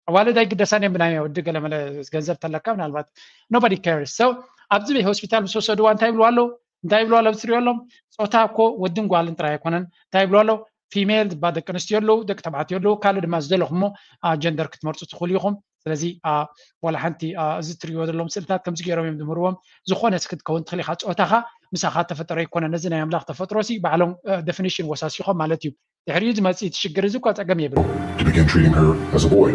ኣዋልድ ኣይግደሳን እዮም ብናይ ወዲ ገለመለ ገንዘብ ተለካ ምናልባት nobody cares። So ኣብዚ ቤት ሆስፒታል ምስ ወሰድዋ እንታይ ይብልዋ ኣለዉ? እንታይ ይብልዋ ኣለዉ? ትሪኦ ኣለዎም ፆታ እኮ ወድን ጓልን ጥራይ ኣይኮነን። እንታይ ይብልዋ ኣለዉ? ፊሜል ዝበሃል ደቂ ኣንስትዮ ኣለዉ፣ ደቂ ተባዕትዮ ኣለዉ፣ ካልእ ድማ ዝደለኹሞ ጀንደር ክትመርፁ ትኽእሉ ኢኹም። ስለዚ ወላ ሓንቲ እዚ ትሪእዎ ዘለዎም ስእልታት ከምዚ ገይሮም እዮም ዝምህርዎም። ዝኾነ ክትከውን ትኽእል ኢኻ። ፆታኻ ምሳኻ ተፈጠሮ ኣይኮነን። ነዚ ናይ ኣምላኽ ተፈጥሮ ሲ ባዕሎም ደፊኒሽን ወሳሲኾም ማለት እዩ። ድሕሪኡ ዝመፅእ እቲ ሽግር እዚ እኳ ፀገም የብሉ። To begin treating her as a boy.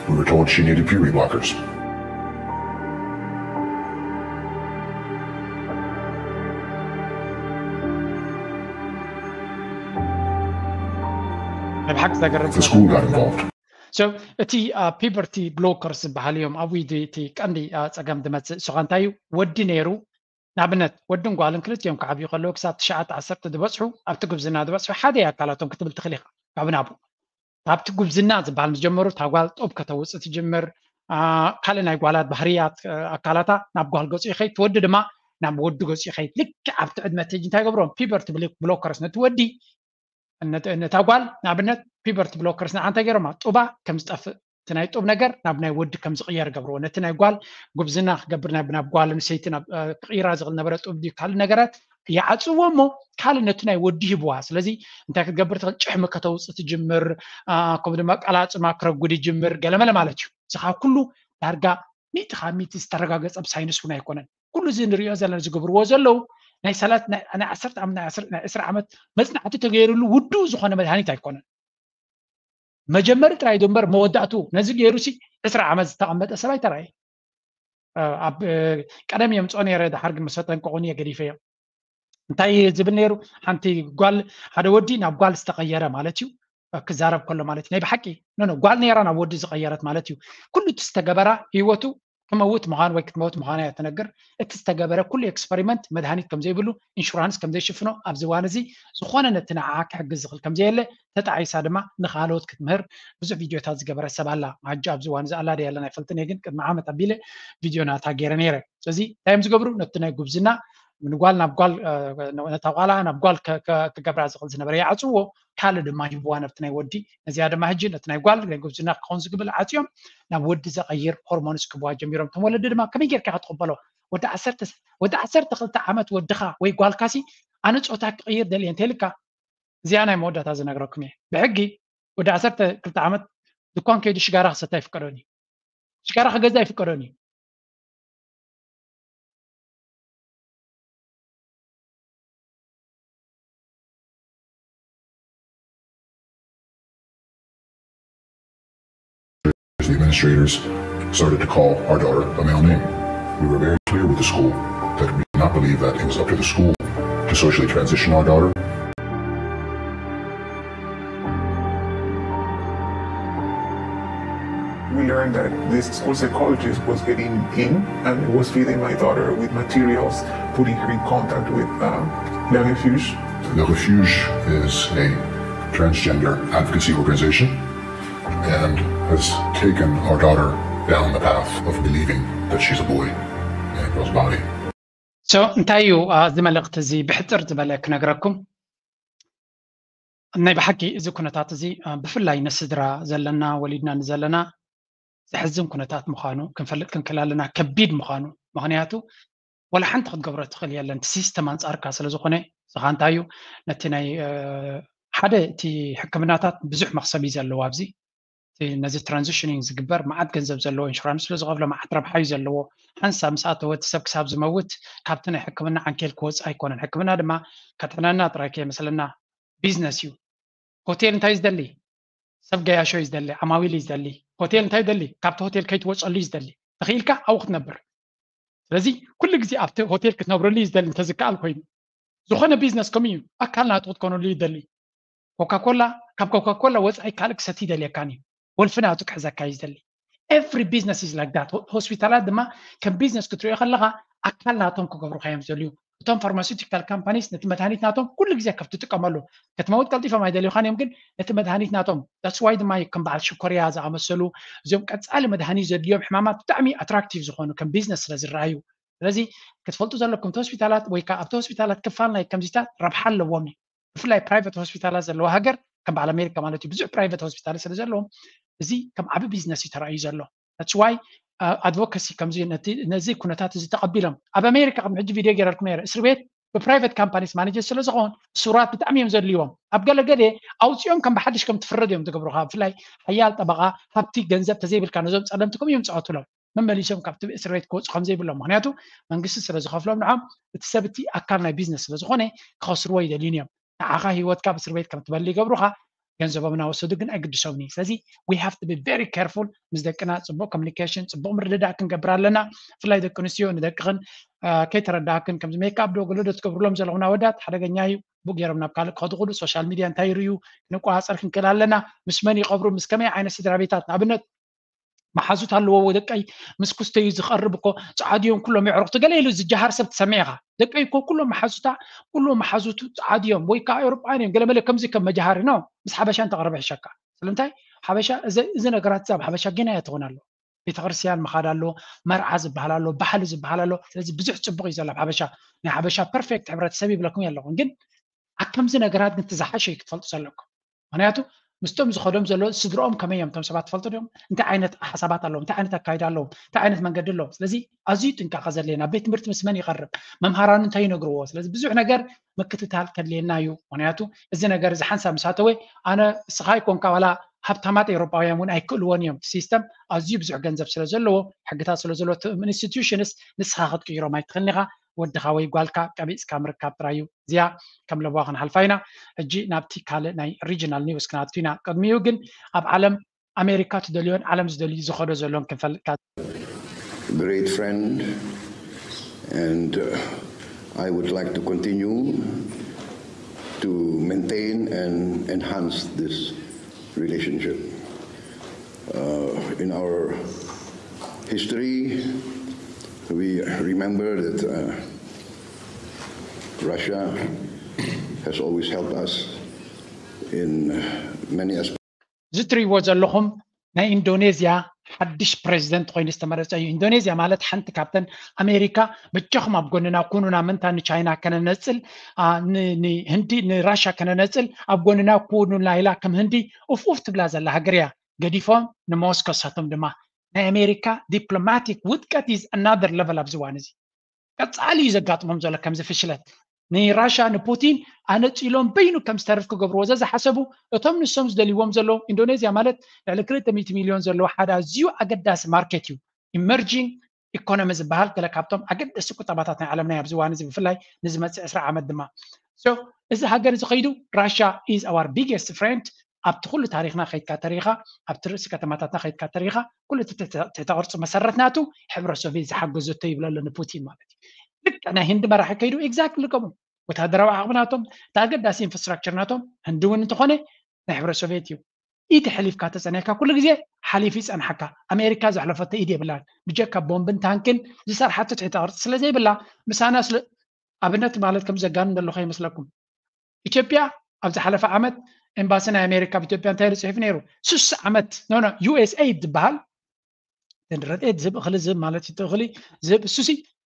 We were told she needed puberty blockers. ናይ ብሓቂ ዘገርም The school got involved. So እቲ ፒበርቲ ብሎከርስ ዝበሃል እዮም ኣብ ዊዲ እቲ ቀንዲ ፀገም ዝመፅእ። እሱ ኸ እንታይ እዩ? ወዲ ነይሩ ንኣብነት ወድን ጓልን ክልቲኦም ክዓብዩ ከለዉ ክሳብ ትሽዓተ ዓሰርተ ዝበፅሑ ኣብቲ ጉብዝና ዝበፅሑ ሓደ ኣካላቶም ክትብል ትኽእል ኢኻ። ካብ ናቡ ካብቲ ጉብዝና ዝበሃል ምስ ጀመሩ እታ ጓል ጡብ ከተውፅእ ትጅምር። ካልእ ናይ ጓላት ባህርያት ኣካላታ ናብ ጓል ገፁ ይኸይድ፣ ትወዲ ድማ ናብ ወዲ ገፁ ይኸይድ። ልክዕ ኣብቲ ዕድመ ተጅ እንታይ ገብሮም ፒበርቲ ብሎከርስ ነቲ ወዲ ነታ ጓል ንኣብነት ፒበርቲ ብሎከርስ ንዓ እንታይ ገይሮማ ጡባ ከም ዝጠፍእ እቲ ናይ ጡብ ነገር ናብ ናይ ወዲ ከም ዝቕየር ገብርዎ። ነቲ ናይ ጓል ጉብዝና ክገብር ናብ ጓል ኣንስተይቲ ክቕይራ ዝኽእል ነበረ ጡብ ድዩ ካልእ ነገራት ይዓፅዎ እሞ ካልእ ነቲ ናይ ወዲ ሂብዋ። ስለዚ እንታይ ክትገብር ትኽእል? ጭሕሚ ከተውፅእ ትጅምር፣ ከምኡ ድማ ቀላፅማ ክረጉድ ይጅምር ገለመለ ማለት እዩ። እዚ ካብ ኩሉ ዳርጋ ሚእቲ ካብ ሚእቲ ዝተረጋገፀ ብሳይንስ እውን ኣይኮነን። ኩሉ እዚ ንሪኦ ዘለና ዝገብርዎ ዘለዉ ናይ ሰላት ናይ ዓሰርተ ዓመት ናይ ዕስራ ዓመት መፅናዕቲ ተገይሩሉ ውዱእ ዝኾነ መድሃኒት ኣይኮነን። መጀመሪ ጥራይ ዶ እምበር መወዳእቱ ነዚ ገይሩ ሲ ዕስራ ዓመት ዝተቐመጠ ሰብ ኣይተራእየ። ኣብ ቀደም የምፅኦ ነይረ፣ ድሓር ግን ምስ ኣጠንቀቑኒ እየ ገዲፈዮ። እንታይ ዝብል ነይሩ? ሓንቲ ጓል ሓደ ወዲ ናብ ጓል ዝተቐየረ ማለት እዩ ክዛረብ ከሎ ማለት እዩ። ናይ ብሓቂ ኖ ኖ ጓል ነይራ ናብ ወዲ ዝቐየረት ማለት እዩ። ኩሉ እቲ ዝተገበራ ህይወቱ ክመውት ምዃን ወይ ክትመውት ምዃና እያ ትነግር። እቲ ዝተገበረ ኩሉ ኤክስፐሪመንት መድሃኒት ከም ዘይብሉ ኢንሹራንስ ከም ዘይሽፍኖ ኣብዚ እዋን እዚ ዝኾነ ነቲ ንዓኣ ክሕግዝ ዝኽእል ከም ዘየለ ተጣዒሳ ድማ ንኻልኦት ክትምህር ብዙሕ ቪድዮታት ዝገበረት ሰብ ኣላ። ማጃ ኣብዚ እዋን እዚ ኣላ ድያ የለን ኣይፈልጥን እየ፣ ግን ቅድሚ ዓመት ኣቢለ ቪድዮ ናታ ገይረ ነይረ። ስለዚ እንታይ እዮም ዝገብሩ? ነቲ ናይ ጉብዝና ንጓል ናብ ጓል ነታ ጓላ ናብ ጓል ክገብራ ዝኽእል ዝነበረ ይዓፅዎ፣ ካልእ ድማ ይህብዋ ነብቲ ናይ ወዲ። ነዚኣ ድማ ሕጂ ነቲ ናይ ጓል ናይ ጉብዝና ክኸውን ዝግብል ዓፅዮም ናብ ወዲ ዘቐይር ሆርሞንስ ክህብዋ ጀሚሮም። እቶም ወለዲ ድማ ከመይ ጌርካ ክትቕበሎ? ወዲ ዓሰርተ ወዲ ዓሰርተ ክልተ ዓመት ወድኻ ወይ ጓልካሲ ኣነ ፆታ ክቕይር ደልየ እንተልካ እዚኣ ናይ መወዳእታ ዝነግረኩም እየ። ብሕጊ ወዲ ዓሰርተ ክልተ ዓመት ድኳን ከይዱ ሽጋራ ክሰታ ይፍቀዶን እዩ። ሽጋራ ክገዛ ይፍቀዶን እዩ። The administrators started to call our daughter a male name. We were very clear with the school that we did not believe that it was up to the school to socially transition our daughter. We learned that this school psychologist was getting in and was feeding my daughter with materials, putting her in contact with um, Le Refuge. Le Refuge is a transgender advocacy organization and has taken our daughter down the path of believing that she's a boy in a girl's body. So እንታይ እዩ እዚ መልእኽቲ እዚ ብሕፅር ዝበለ ክነግረኩም? ናይ ብሓቂ እዚ ኩነታት እዚ ብፍላይ ንስድራ ዘለና ወሊድና ንዘለና ዘሕዝን ኩነታት ምዃኑ ክንፈልጥ ክንክእል ኣለና። ከቢድ ምዃኑ ምክንያቱ ወላ ሓንቲ ክትገብሮ ትኽእል የለን። እቲ ሲስተም ኣንፃርካ ስለ ዝኾነ ንስኻ እንታይ እዩ ነቲ ናይ ሓደ እቲ ሕክምናታት ብዙሕ መኽሰብ እዩ ዘለዎ ኣብዚ ነዚ ትራንዚሽኒንግ ዝግበር መዓት ገንዘብ ዘለዎ ኢንሹራንስ ስለ ዝኸፍሎ መዓት ረብሓ እዩ ዘለዎ። ሓንሳብ ምስ ኣተወ እቲ ሰብ ክሳብ ዝመውት ካብቲ ናይ ሕክምና ዓንኬል ክወፅእ ኣይኮነን። ሕክምና ድማ ከጥዕነና ጥራይ ከይመስለና ቢዝነስ እዩ። ሆቴል እንታይ ዝደሊ ሰብ ገያሾ እዩ ዝደሊ፣ ዓማዊል እዩ ዝደሊ። ሆቴል እንታይ ዝደሊ ካብቲ ሆቴል ከይትወፀሉ እዩ ዝደሊ። ተኽኢልካ ኣብኡ ክትነብር። ስለዚ ኩሉ ግዜ ኣብቲ ሆቴል ክትነብረሉ እዩ ዝደሊ እንተዝከኣል ኮይኑ። ዝኾነ ቢዝነስ ከምኡ እዩ። ኣካል ናቱ ክትኮነሉ እዩ ዝደሊ። ኮካኮላ ካብ ኮካኮላ ወፃኢ ካልእ ክሰቲ ይደልየካን እዩ። ወልፊ ናቱ ክሕዘካ እዩ ዝደሊ። Every business is like that። ሆስፒታላት ድማ ከም ቢዝነስ ክትሪኦ ከለካ ኣካል ናቶም ክገብሩካ እዮም ዝደልዩ። እቶም ፋርማሲውቲካል ካምፓኒስ ነቲ መድሃኒት ናቶም ኩሉ ግዜ ከብ ትጥቀመሉ ክትመውት ቀልጢፎም ኣይደልዩካን እዮም፣ ግን ነቲ መድሃኒት ናቶም that's why ድማ ከም በዓል ሽኮርያ ዝኣመሰሉ እዚኦም ቀፃሊ መድሃኒት ዘድልዮም ሕማማት ብጣዕሚ ኣትራክቲቭ ዝኾኑ ከም ቢዝነስ ስለ ዝረኣዩ። ስለዚ ክትፈልጡ ዘለኩም እቲ ሆስፒታላት ወይ ከዓ ኣብቲ ሆስፒታላት ክፋል ናይ ከምዚታት ረብሓ ኣለዎም እዩ። ብፍላይ ፕራይቨት ሆስፒታላት ዘለዎ ሃገር ከም በዓል ኣሜሪካ ማለት እዩ ብዙሕ ፕራይቨት ሆስፒታል ስለ ዘለዎም እዚ ከም ዓቢ ቢዝነስ እዩ ተራእዩ ዘሎ። That's why advocacy ከምዚ ነዚ ኩነታት እዚ ተቐቢሎም ኣብ ኣሜሪካ ከም ሕጂ ቪድዮ ገይረልኩም ነረ እስር ቤት ብፕራይቨት ካምፓኒስ ማኔጀር ስለ ዝኸውን ስራት ብጣዕሚ እዮም ዘድልይዎም። ኣብ ገለገለ ኣውፅኦም ከም ብሓድሽ ከም ትፍረድ እዮም ትገብሩካ። ብፍላይ ሓያል ጠበቃ ሃብቲ ገንዘብ ተዘይብልካ ነዞም ፀለምቲ ከም እዮም ፀቐቱሎም መመሊሶም ካብቲ እስር ቤት ክወፁ ከም ዘይብሎም ምክንያቱ መንግስቲ ስለ ዝኸፍሎም ንዓም እቲ ሰብ እቲ ኣካል ናይ ቢዝነስ ስለ ዝኾነ ክኸስርዎ ይደልዩን እዮም። ንዓኻ ህይወትካ ኣብ እስር ቤት ከም ትበሊ ይገብሩኻ። ገንዘቦም እናወሰዱ ግን ኣይግድሶምን እዩ። ስለዚ we have to be very careful ምስ ደቅና ፅቡቅ ኮሚኒኬሽን ፅቡቅ ምርድዳእ ክንገብር ኣለና። ብፍላይ ደቂ ኣንስትዮ ንደቅኽን ከይተረዳእክን ከምዚ ሜካፕ ዶ ገለ ዶ ትገብርሎም ዘለኹም ኣወዳት ሓደገኛ እዩ። ብኡ ገይሮም ናብ ካልእ ክኸዱ ክሉ ሶሻል ሚድያ እንታይ ይርእዩ ክንቆፃፀር ክንክእል ኣለና። ምስ መን ይቐብሩ ምስ ከመይ ዓይነት ስድራ ቤታት ንኣብነት መሓዙት ኣለዎ ደቀይ ምስ ኩስተዩ ዝቐርብ እኮ ፃዓዱ እዮም ኩሎም የዕሩኽቲ ገለ ኢሉ ዝጀሃር ሰብ ትሰምዕ ኢኻ። ደቀይ እኮ ኩሎም መሓዙታ ኩሎም መሓዙቱ ፃዓዱ እዮም ወይ ከዓ ኤውሮጳውያን እዮም ገለመለ ከምዚ ከም መጃሃሪ ነው። ምስ ሓበሻ እንተቕርብ ይሕሸካ። ስለምንታይ ሓበሻ እዚ ነገራት ኣብ ሓበሻ ጌና እያ ትኾን ኣሎ። ቤተክርስትያን ምኻድ ኣሎ፣ መርዓ ዝበሃል ኣሎ፣ ባህሊ ዝበሃል ኣሎ። ስለዚ ብዙሕ ፅቡቕ እዩ ዘሎ ኣብ ሓበሻ። ናይ ሓበሻ ፐርፌክት ሕብረተሰብ ይብለኩም ኣለኹም ግን ኣብ ከምዚ ነገራት ግን ትዝሓሸ እዩ ክትፈልጡ ዘለኩም። ምክንያቱ ምስቶም ዝኸዶም ዘሎ ስድርኦም ከመይ እዮም እቶም ሰባት ትፈልጡ ዲኦም? እንታይ ዓይነት ሓሳባት ኣለዎም? እንታይ ዓይነት ኣካይዳ ኣለዎም? እንታይ ዓይነት መንገዲ ኣለዎም? ስለዚ ኣዝዩ ጥንቃቐ ዘድለየና ቤት ትምህርቲ ምስ መን ይቐርብ? መምሃራኑ እንታይ ይነግርዎ? ስለዚ ብዙሕ ነገር ምክትታል ከድልየና እዩ። ምክንያቱ እዚ ነገር እዚ ሓንሳብ ምስ ኣተወ ኣነ እስኻ ይኮንካ ዋላ ሃብታማት ኤውሮጳውያን እውን ኣይክእልዎን እዮም። ሲስተም ኣዝዩ ብዙሕ ገንዘብ ስለ ዘለዎ ሕግታት ስለ ዘለዎ ኢንስቲትዩሽንስ ንስኻ ክትቅይሮም ኣይትኽእልን ኢኻ። ወድኻ ወይ ጓልካ ቀቢፅካ ምርካብ ጥራይ እዩ። እዚኣ ከም ለበዋ ክንሓልፋ ኢና። ሕጂ ናብቲ ካልእ ናይ ሪጅናል ኒውስ ክናቱ ኢና። ቅድሚኡ ግን ኣብ ዓለም ኣሜሪካ ትደልዮን ዓለም ዝደልዩ ዝኸዶ ዘሎን ክንፈልጥካ። Great friend and uh, I would like to continue to maintain and enhance this relationship. Uh, in our history, we remember that uh, Russia has always helped us in many aspects. እዚ ትሪእዎ ዘለኹም ናይ ኢንዶኔዝያ ሓድሽ ፕሬዚደንት ኮይኑ ዝተመረፀ እዩ። ኢንዶኔዝያ ማለት ሓንቲ ካብተን ኣሜሪካ በጃኹም ኣብ ጎንና ኩኑና ምንታ ንቻይና ከነነፅል ንህንዲ ንራሻ ከነነፅል ኣብ ጎንና ኩኑና ኢላ ከም ህንዲ ኡፍ ኡፍ ትብላ ዘላ ሃገር እያ። ገዲፎም ንሞስኮ ሳቶም ድማ ናይ ኣሜሪካ ዲፕሎማቲክ ውድቀት is another level ኣብዚ እዋን እዚ ቀፃሊ እዩ ዘጋጥሞም ዘሎ ከምዚ ፍሽለት ንራሻ ንፑቲን ኣነፂሎም በይኑ ከም ዝተርፍ ክገብርዎ ዘዝሓሰቡ እቶም ንሶም ዝደልይዎም ዘለዉ ኢንዶኔዝያ ማለት ልዕሊ ክልተ ሚእቲ ሚልዮን ዘለዎ ሓደ ኣዝዩ ኣገዳሲ ማርኬት እዩ። ኢመርጂንግ ኢኮኖሚ ዝበሃል ገለ ካብቶም ኣገደስቲ ቁጠባታት ናይ ዓለምና ኣብዚ እዋን እዚ ብፍላይ ንዝመፅእ ዕስራ ዓመት ድማ እዚ ሃገር እዚ ከይዱ ራሻ is our biggest friend ኣብቲ ኩሉ ታሪኽና ከይድካ ተሪኻ ኣብቲ ርእሲ ከተማታትና ከይድካ ተሪኻ ኩሉ እቲ ትሕተ ቅርፂ መሰረት ናቱ ሕብረ ሶቪየት ዝሓገዘቶ ይብለሎ ንፑቲን ማለት እዩ። ልክዕ ናይ ህንዲ መራሒ ከይዱ exactly ከምኡ ወታደራዊ ዓቕሚ ናቶም እቲ ኣገዳሲ infrastructure ናቶም ህንዲ እውን እንተኾነ ናይ ሕብረ ሶቪየት እዩ። ኢድ ሕሊፍካ ተፀኒሕካ ኩሉ ግዜ ሓሊፉ ይፀንሓካ። ኣሜሪካ ዘሕለፈቶ ኢድ የብላን ብጀካ ቦምብን ታንክን ዝሰርሓቶ ትሕተ ቅርፂ ስለዘይብላ ምሳና ስለ ኣብነት ማለት ከም ዘጋንን ዘለኹ ይመስለኩም። ኢትዮጵያ ኣብ ዝሓለፈ ዓመት ኤምባሲ ናይ ኣሜሪካ ኣብ ኢትዮጵያ እንታይ ኢሉ ፅሒፉ ነይሩ? ስሳ ዓመት ኖ ኖ ዩ ኤስ ኤይድ ዝበሃል ንረድኤት ዝህብ እኽሊ ዝህብ ማለት እዩ። እኽሊ ዝህብ እሱሲ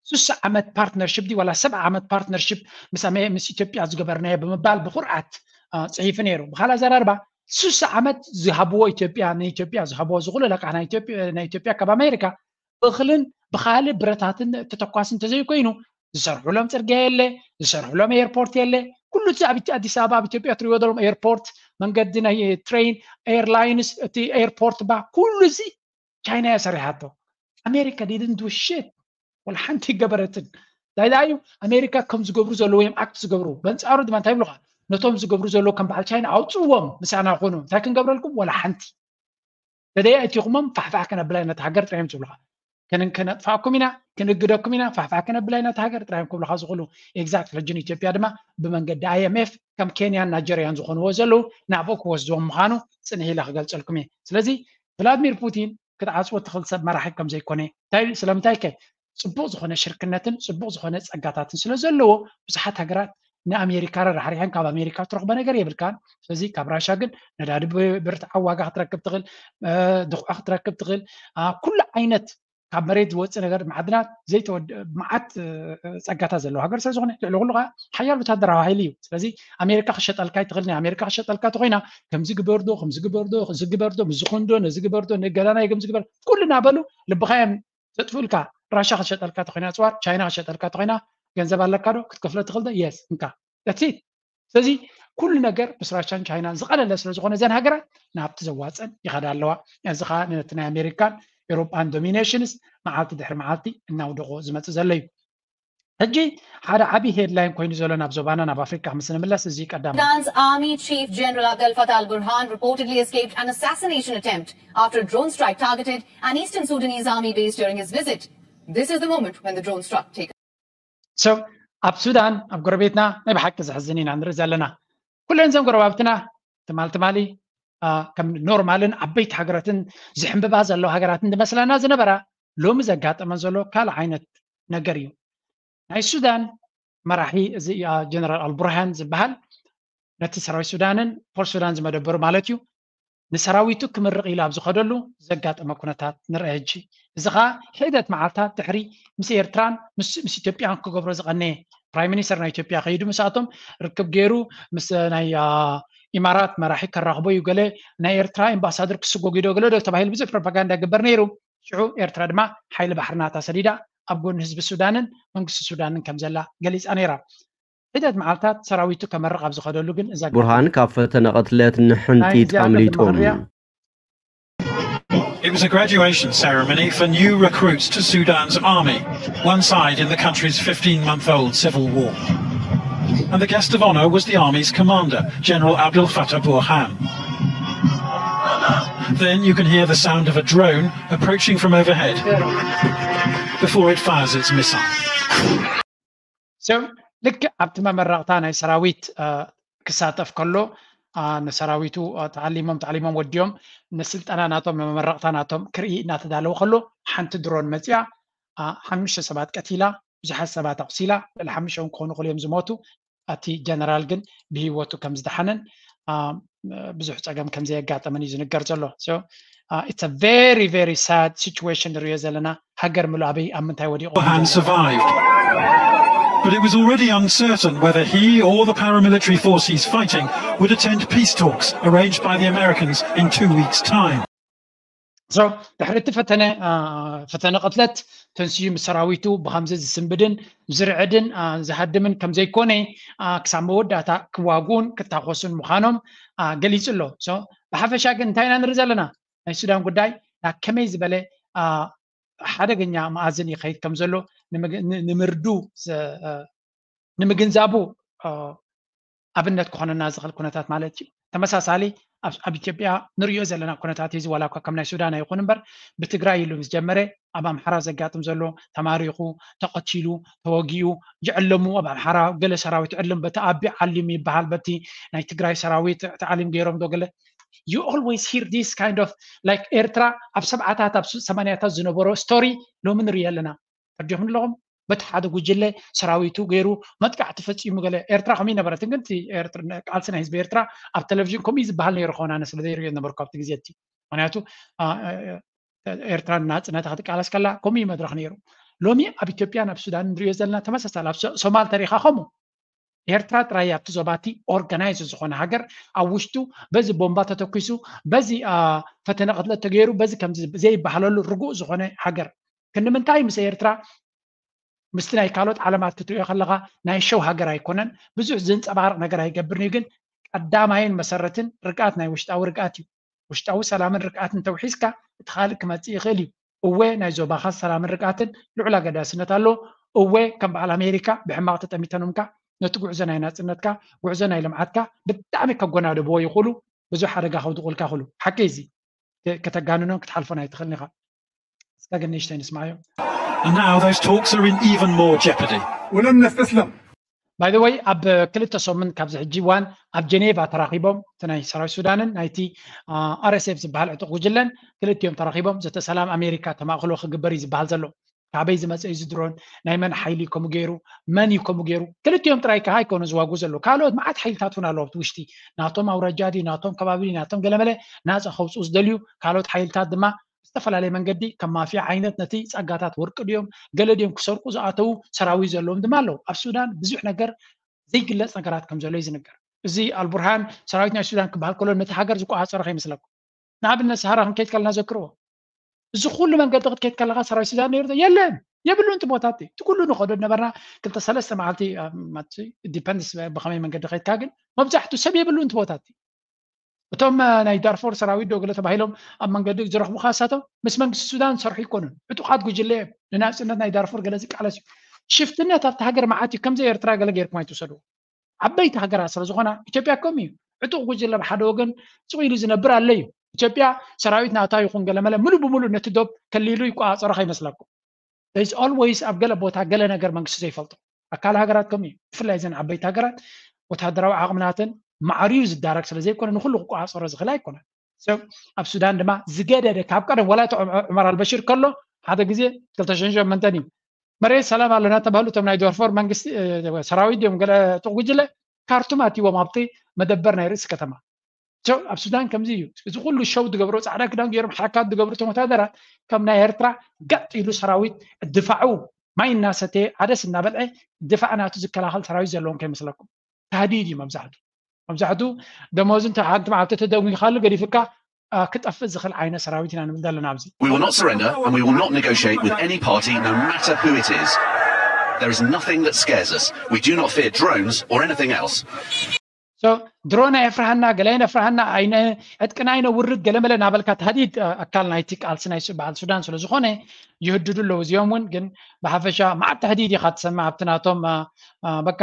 ስሳ ዓመት partnership ድዩ ዋላ ሰብዓ ዓመት partnership ምስ ኣሜ- ምስ ኢትዮጵያ ዝገበርናዮ ብምባል ብኩርዓት አ፣ ፅሒፉ ነይሩ። ብካልእ ኣዘራርባ ስሳ ዓመት ዝሃብዎ ኢትዮጵያ ንኢትዮጵያ ዝሃብዎ ዝኹሉ ለቃሕ ናይ ኢትዮጵያ ናይ ኢትዮጵያ ካብ ኣሜሪካ እኽልን ብካልእ ብረታትን ተተኳሲ እንተዘይኮይኑ ዝሰርሑሎም ፅርግያ የለ፣ ዝሰርሑሎም ኤርፖርት የለ። ኩሉ እቲ ኣብ ኣዲስ ኣበባ ኣብ ኢትዮጵያ ትሪእዎ ዘለኹም ኤርፖርት፣ መንገዲ ናይ ትሬን፣ ኤርላይንስ፣ እቲ ኤርፖርት ባ ኩሉ እዚ ቻይና እያ ሰሪሓቶ። ኣሜሪካ didn't do shit ወላ ሓንቲ ገበረትን። እንታይ ደኣ እዩ ኣሜሪካ ከም ዝገብሩ ዘለዉ እዮም ኣክት ዝገብሩ። በንፃሩ ድማ እንታይ ይብሉኻ? ነቶም ዝገብሩ ዘለዉ ከም በዓል ቻይና ኣውፅዎም ምሳና ኮኑ እንታይ ክንገብረልኩም ወላ ሓንቲ። ተደይ ኣእቲኹሞም ፋሕፋሕ ከነብላ ኢና ነታ ሃገር ጥራዮም ዝብሉኻ። ከነጥፍኣኩም ኢና፣ ክንእግደኩም ኢና፣ ፋሕፋሕ ከነብላ ኢና ነታ ሃገር ጥራዮም ክብሉኻ ዝኽእሉ። ኤግዛክት ሕጂ ንኢትዮጵያ ድማ ብመንገዲ ኣይ ኤም ኤፍ ከም ኬንያን ናይጀርያን ዝኾንዎ ዘለዉ ናብኡ ክወስድዎም ምዃኑ ፅንሕ ኢለ ክገልፀልኩም እየ። ስለዚ ቭላድሚር ፑቲን ክትዓፅዎ ትኽእል ሰብ መራሒ ከም ዘይኮነ እንታይ ስለምንታይ ከ ፅቡቕ ዝኾነ ሽርክነትን ፅቡቕ ዝኾነ ፀጋታትን ስለ ዘለዎ ብዙሓት ሃገራት ንኣሜሪካ ረራሕሪሐን ካብ ኣሜሪካ ትረኽቦ ነገር የብልካን። ስለዚ ካብ ራሻ ግን ነዳዲ ብርትዓዊ ዋጋ ክትረክብ ትኽእል፣ ድኹዒ ክትረክብ ትኽእል፣ ኩሉ ዓይነት ካብ መሬት ዝወፅእ ነገር ማዕድናት ዘይተወድ መዓት ፀጋታት ዘለዎ ሃገር ስለ ዝኾነ ልዕሊ ኩሉ ከዓ ሓያል ወታደራዊ ሓይሊ እዩ። ስለዚ ኣሜሪካ ክሸጠልካ ይትኽእል። ናይ ኣሜሪካ ክሸጠልካ ተኮይና ከምዚ ግበርዶ ከምዚ ግበርዶ እዚ ግበርዶ ምዝኾንዶ ነዚ ግበርዶ ንገዳናይ ከምዚ ግበር ኩሉ እናበሉ ልብኻ እዮም ዘጥፍኡልካ። ራሻ ክሸጠልካ ተኮይና ፅዋር ቻይና ክሸጠልካ ተኮይና ገንዘብ ኣለካ ዶ ክትከፍሎ ትኽእል ዶ? የስ እንካ that's it። ስለዚ ኩሉ ነገር ምስ ራሻን ቻይናን ዝቐለለ ስለ ዝኾነ እዘን ሃገራት ናብቲ ዘዋፀን ይኸዳ ኣለዋ። እዚ ከዓ ነቲ ናይ ኣሜሪካን ኤሮጳን ዶሚኔሽንስ መዓልቲ ድሕሪ መዓልቲ እናውደቆ ዝመፅእ ዘሎ እዩ። ሕጂ ሓደ ዓብዪ ሄድላይን ኮይኑ ዘሎ ናብ ዞባና ናብ ኣፍሪካ ምስ ንምለስ እዚ ቀዳማይ Sudan's Army Chief General Abdel Fattah al-Burhan reportedly escaped an assassination attempt after a drone strike targeted an eastern Sudanese army base during his visit. This is the moment when the drone struck. Take So ኣብ ሱዳን ኣብ ጎረቤትና ናይ ብሓቂ ዘሕዝን ኢና ንርኢ ዘለና። ኩለን እዘን ጎረባብትና ትማል ትማሊ ከም ኖርማልን ዓበይቲ ሃገራትን ዝሕምብባ ዘለዋ ሃገራትን ዝመስለና ዝነበራ ሎሚ ዘጋጠመን ዘሎ ካልእ ዓይነት ነገር እዩ። ናይ ሱዳን መራሒ እዚ ጀነራል ኣልቡርሃን ዝበሃል ነቲ ሰራዊት ሱዳንን ፖርት ሱዳን ዝመደበሩ ማለት እዩ ንሰራዊቱ ክምርቕ ኢሉ ኣብ ዝኸደሉ ዘጋጠመ ኩነታት ንርአ። ሕጂ እዚ ኸኣ ሒደት መዓልታት ድሕሪ ምስ ኤርትራን ምስ ኢትዮጵያን ክገብሮ ዝቐነየ ፕራይም ሚኒስተር ናይ ኢትዮጵያ ከይዱ ምስኣቶም ርክብ ገይሩ ምስ ናይ ኢማራት መራሒ ከራኽቦ እዩ ገለ ናይ ኤርትራ ኤምባሳደር ክስጎግ እዩ ዶ ገለ ዶ ተባሂሉ ብዙሕ ፕሮፓጋንዳ ይግበር ነይሩ። ሽዑ ኤርትራ ድማ ሓይሊ ባሕሪ ናታ ሰዲዳ ኣብ ጎኒ ህዝቢ ሱዳንን መንግስቲ ሱዳንን ከም ዘላ ገሊጻ ነይራ። ሒደት መዓልታት ሰራዊቱ ከመርቕ ኣብ ዝኸደሉ ግን እዛ ቡርሃን ካብ ፈተነ ቅትለት ንሕንጢጥ ኣምሊጡ። It was a graduation ceremony for new recruits to Sudan's army, one side in the country's fifteen-month-old civil war. And the guest of honour was the army's commander, General Abdel Fattah Burhan. Then you can hear the sound of a drone approaching from overhead before it fires its missile. So ልክዕ ኣብቲ መመረቕታ ናይ ሰራዊት ክሳተፍ ከሎ ንሰራዊቱ ተዓሊሞም ተዓሊሞም ወዲኦም ንስልጠና ናቶም መመረቕታ ናቶም ክርኢ እናተዳለወ ከሎ ሓንቲ ድሮን መፂኣ ሓሙሽተ ሰባት ቀቲላ ብዙሓት ሰባት ኣቑሲላ ልዕሊ ሓሙሽተ እውን ክኾኑ ክእሉ እዮም ዝሞቱ። እቲ ጀነራል ግን ብህይወቱ ከም ዝደሓነን ብዙሕ ፀገም ከም ዘየጋጠመን እዩ ዝንገር ዘሎ። It's a very very sad situation ንሪኦ ዘለና። ሃገር ምሉእ ኣበይ ኣብ ምንታይ ወዲቑ Burhan survived. But it was already uncertain whether he or the paramilitary force he's fighting would attend peace talks arranged by the Americans in two weeks' time. So ድሕሪ እቲ ፈተነ ፈተነ ቅትለት ተንስዩ ምስ ሰራዊቱ ብከምዚ ዝስንብድን ዝርዕድን ዝሃድምን ከም ዘይኮነ ክሳብ መወዳእታ ክዋግኡን ክታኮሱን ምዃኖም ገሊጹ ኣሎ። ብሓፈሻ ግን እንታይ ኢና ንርኢ ዘለና? ናይ ሱዳን ጉዳይ ናብ ከመይ ዝበለ ሓደገኛ መኣዝን ይኸይድ ከም ዘሎ ንምርዱ ንምግንዛቡ ኣብነት ክኾነና ዝኽእል ኩነታት ማለት እዩ። ተመሳሳሊ ኣብ ኢትዮጵያ ንሪኦ ዘለና ኩነታት እዚ ዋላ እኳ ከም ናይ ሱዳን ኣይኹን እምበር ብትግራይ ኢሉ ምስ ጀመረ ኣብ ኣምሓራ ዘጋጥም ዘሎ ተማሪኹ ተቐቲሉ ተወጊኡ ዝዕለሙ ኣብ ኣምሓራ ገለ ሰራዊት ዕልም በቲ ኣቢ ዓሊም ይበሃል በቲ ናይ ትግራይ ሰራዊት ተዓሊም ገይሮም ዶ ገለ you always hear this kind of like ኤርትራ ኣብ ሰብዓታት ኣብ ሰማንያታት ዝነበሮ ስቶሪ ሎሚ ንሪኦ ኣለና። ተርዲኹም ኣለኹም በቲ ሓደ ጉጅለ ሰራዊቱ ገይሩ መጥቃዕቲ ፈፂሙ ገለ ኤርትራ ከምኡ ይነበረትን ግን ቃልሲ ናይ ህዝቢ ኤርትራ ኣብ ቴሌቪዥን ከምኡ ዝበሃል ነይሩ ከሆን ኣነ ስለ ዘይሪኦ ነበርኩ ኣብቲ ግዜ እቲ ምክንያቱ ኤርትራ ናፅነታ ክትቃለስ ከላ ከምኡ መድረክ ነይሩ ሎሚ ኣብ ኢትዮጵያ ናብ ሱዳን ንሪኦ ዘለና ተመሳሳሊ ኣብ ሶማል ተሪካ ከምኡ ኤርትራ ጥራይ ኣብቲ ዞባቲ ኦርጋናይዝ ዝኾነ ሃገር ኣብ ውሽጡ በዚ ቦምባ ተተኪሱ በዚ ፈተነ ቅትለት ተገይሩ በዚ ከም ዘይበሃለሉ ርጉእ ዝኾነ ሃገር ክንምንታይ ምስ ኤርትራ ምስቲ ናይ ካልኦት ዓለማት ክትሪኦ ከለካ ናይ ሸው ሃገር ኣይኮነን ብዙሕ ዘንፀባርቕ ነገር ኣይገብርን እዩ ግን ቀዳማይን መሰረትን ርግኣት ናይ ውሽጣዊ ርግኣት እዩ ውሽጣዊ ሰላምን ርግኣትን ተውሒዝካ እቲ ካልእ ክመፅእ ይኽእል እዩ እወ ናይ ዞባኻ ሰላምን ርግኣትን ልዑል ኣገዳስነት ኣሎ እወ ከም በዓል ኣሜሪካ ብሕማቕ ተጠሚተኖምካ ነቲ ጉዕዞ ናይ ናፅነትካ ጉዕዞ ናይ ልምዓትካ ብጣዕሚ ከጎናደብዎ ይኽእሉ ብዙሕ ሓደጋ ከውድቑልካ ይኽእሉ ሓቂ እዚ ከተጋንኖን ክትሓልፎን ኣይትኽእልን ኢኻ እስከ ግን ንእሽተይ ንስማዮ And now those talks are in even more jeopardy. ولن نستسلم by the way ኣብ ክልተ ሰሙን ካብዚ ሕጂ እዋን ኣብ ጀኔቫ ተራኺቦም እቲ ናይ ሰራዊት ሱዳንን ናይቲ ኣር ኤስ ኤፍ ዝበሃል ዕጡቕ ጉጅለን ክልቲኦም ተራኺቦም ዘተ ሰላም ኣሜሪካ ተማእክሎ ክግበር እዩ ዝበሃል ዘሎ ካበይ ዝመፀ እዩ ዝድሮን ናይ መን ሓይሊ እዩ ከምኡ ገይሩ መን እዩ ከምኡ ገይሩ ክልቲኦም ጥራይ ከዓ ኣይኮኑ ዝዋጉ ዘለዉ ካልኦት መዓት ሓይልታት እውን ኣለዉ ኣብቲ ውሽጢ ናቶም ኣውራጃ ድዩ ናቶም ከባቢ ድዩ ናቶም ገለመለ ናፃ ከውፅኡ ዝደልዩ ካልኦት ሓይልታት ድማ ዝተፈላለየ መንገዲ ከም ማፍያ ዓይነት ነቲ ጸጋታት ወርቂ ድዮም ገለ ድዮም ክሰርቁ ዝኣተዉ ሰራዊት ዘለዎም ድማ ኣለዉ ኣብ ሱዳን ብዙሕ ነገር ዘይግለጽ ነገራት ከም ዘሎ እዩ ዝንገር እዚ ኣልቡርሃን ሰራዊት ናይ ሱዳን ክበሃል ከሎ ነቲ ሃገር ዝቆፃፀረ ከይመስለኩም ንኣብነት ሰሃራ ክንከይድ ከለና ዘክርዎ እዚ ኩሉ መንገዲ ክትከይድ ከለካ ሰራዊት ሱዳን ነይሩ የለን የብሉን እቲ ቦታቲ እቲ ኩሉ ንኸዶ ነበርና ክልተ ሰለስተ መዓልቲ ዲፐንድስ ብከመይ መንገዲ ከይድካ ግን መብዛሕትኡ ሰብ የብሉን እቲ ቦታቲ እቶም ናይ ዳርፎር ሰራዊት ዶ ገለ ተባሂሎም ኣብ መንገዲ ዝረኽቡካ እሳቶም ምስ መንግስቲ ሱዳን ዝሰርሑ ይኮኑን ዕጡቃት ጉጅለ እዮም ንናፅነት ናይ ዳርፎር ገለ ዝቃለስ እዩ ሽፍትነት ኣብቲ ሃገር መዓት እዩ ከምዚ ኤርትራ ገለ ገይርኩም ኣይትውሰድዎ ዓበይቲ ሃገራት ስለ ዝኾና ኢትዮጵያ ከም እዩ ዕጡቅ ጉጅለ ብሓደ ወገን ስቕ ኢሉ ዝነብር ኣሎ እዩ ኢትዮጵያ ሰራዊት ናታ ይኹን ገለመለ ሙሉ ብሙሉ ነቲ ዶብ ከሊሉ ይቆፃፀሮ ከይመስለኩም there is always ኣብ ገለ ቦታ ገለ ነገር መንግስቲ ዘይፈልጦ ኣካል ሃገራት ከም እዩ ብፍላይ ዘን ዓበይቲ ሃገራት ወታደራዊ ዓቕምናተን ማዕርዩ ዝዳረግ ስለ ዘይኮነ ንኩሉ ክቆፃፀሮ ዝኽእል ኣይኮነን ኣብ ሱዳን ድማ ዝገደደ ካብ ቀደም ወላ እቲ ዑመር ኣልበሽር ከሎ ሓደ ግዜ ክልተ ሽሕን ሸሞንተን እዩ መሬት ሰላም ኣለና ተባህሉ እቶም ናይ ዶርፎር መንግስቲ ሰራዊት እዮም ገለ ጥቕ ጉጅለ ካርቱም ኣትዎም ኣብቲ መደበር ናይ ርእሲ ከተማ ኣብ ሱዳን ከምዚ እዩ እዚ ኩሉ ሸው ዝገብሩ ፃዕዳ ክዳን ገይሮም ሓካት ዝገብሩ እቶም ወታደራት ከም ናይ ኤርትራ ገጥ ኢሉ ሰራዊት ድፋዑ ማይ እናሰተየ ዓደስ እናበልዐ ድፋዕ ናቱ ዝከላኸል ሰራዊት ዘለዎም ከይመስለኩም ታህዲድ እዩ መብዛሕቱ መብዛሕቱ ደሞዝ እንተ ሓንቲ መዓልቲ ተደጒኻሉ ገዲፍካ ክጠፍእ ዝኽእል ዓይነት ሰራዊት ኢና ንብል ዘለና ኣብዚ We will not surrender and we will not negotiate with any party, no matter who it is. There is nothing that scares us. We do not fear drones or anything else. ድሮን ኣየፍርሃና ገለ ኣይነፍርሃና ዕጥቅና ኣይነውርድ ገለ መለ ናበልካ ተህዲድ ኣካል ናይቲ ቃልሲ ናይ በዓል ሱዳን ስለ ዝኾነ ይህድዱ ኣለዉ እዚኦም እውን ግን ብሓፈሻ መዓት ተህዲድ ኢኻ ትሰምዕ ኣብቲ ናቶም በቃ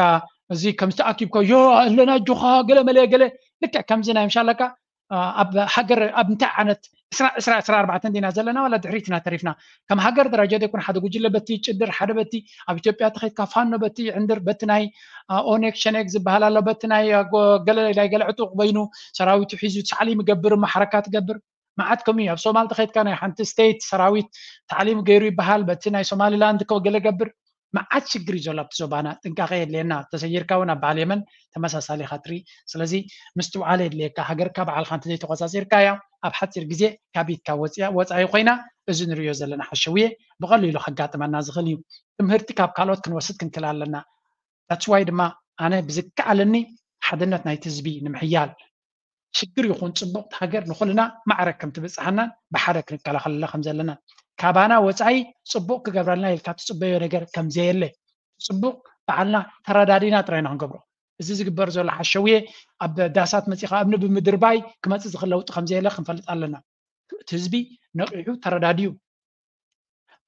እዚ ከምዚ ተኣኪብኮ ዮ ኣለና ኣጆኻ ገለ መለ ገለ ልክዕ ከምዚ ናይ ምሻለካ ኣብ ሃገር ኣብ እንታይ ዓይነት ዕስራ ዕስራ ዕስራ ኣርባዕተ እንዲና ዘለና ዋላ ድሕሪትና ተሪፍና ከም ሃገር ደረጃ ዘይኮነ ሓደ ጉጅለ በቲ ጭድር ሓደ በቲ ኣብ ኢትዮጵያ ተኸይድካ ፋኖ በቲ ዕንድር በቲ ናይ ኦነግ ሸኔግ ዝበሃል ኣሎ በቲ ናይ ገለ ናይ ገለ ዕጡቕ በይኑ ሰራዊቱ ሒዙ ታዕሊም ይገብር እሞ ሓረካ ትገብር መዓት ከምኡ እዩ ኣብ ሶማል ተኸይድካ ናይ ሓንቲ ስቴት ሰራዊት ታዕሊም ገይሩ ይበሃል በቲ ናይ ሶማሊላንድ ገለ ገብር መዓት ሽግር እዩ ዘሎ ኣብቲ ዞባና ጥንቃቄ የድልየና ተሰይርካ እውን ኣብ በዓል የመን ተመሳሳሊ ኢኻ ትርኢ ስለዚ ምስትውዓል የድልየካ ሃገርካ በዓልካ እንተዘይተቆፃፂርካያ ኣብ ሓፂር ግዜ ካብ ኢድካ ወፃኢ ኮይና እዚ ንሪኦ ዘለና ሓሸውየ ብቐሊሉ ከጋጥመና ዝኽእል እዩ ትምህርቲ ካብ ካልኦት ክንወስድ ክንክእል ኣለና that's why ድማ ኣነ ብዝከኣለኒ ሓድነት ናይቲ ህዝቢ ንምሕያል ሽግር ይኹን ፅቡቕ ሃገር ንኹልና ማዕረ ከም ትብፅሓናን ብሓደ ክንከላኸለላ ከም ዘለና ካባና ወፃኢ ፅቡቕ ክገብረልና ኢልካ ትፅበዮ ነገር ከም ዘየለ ፅቡቕ በዓልና ተረዳዲና ጥራይ ኢና ክንገብሮ እዚ ዝግበር ዘሎ ሓሸውየ ኣብ ዳሳት መፂኻ እምኒ ብምድርባይ ክመፅእ ዝኽእል ለውጢ ከም ዘየለ ክንፈልጥ ኣለና እቲ ህዝቢ ነቂሑ ተረዳድዩ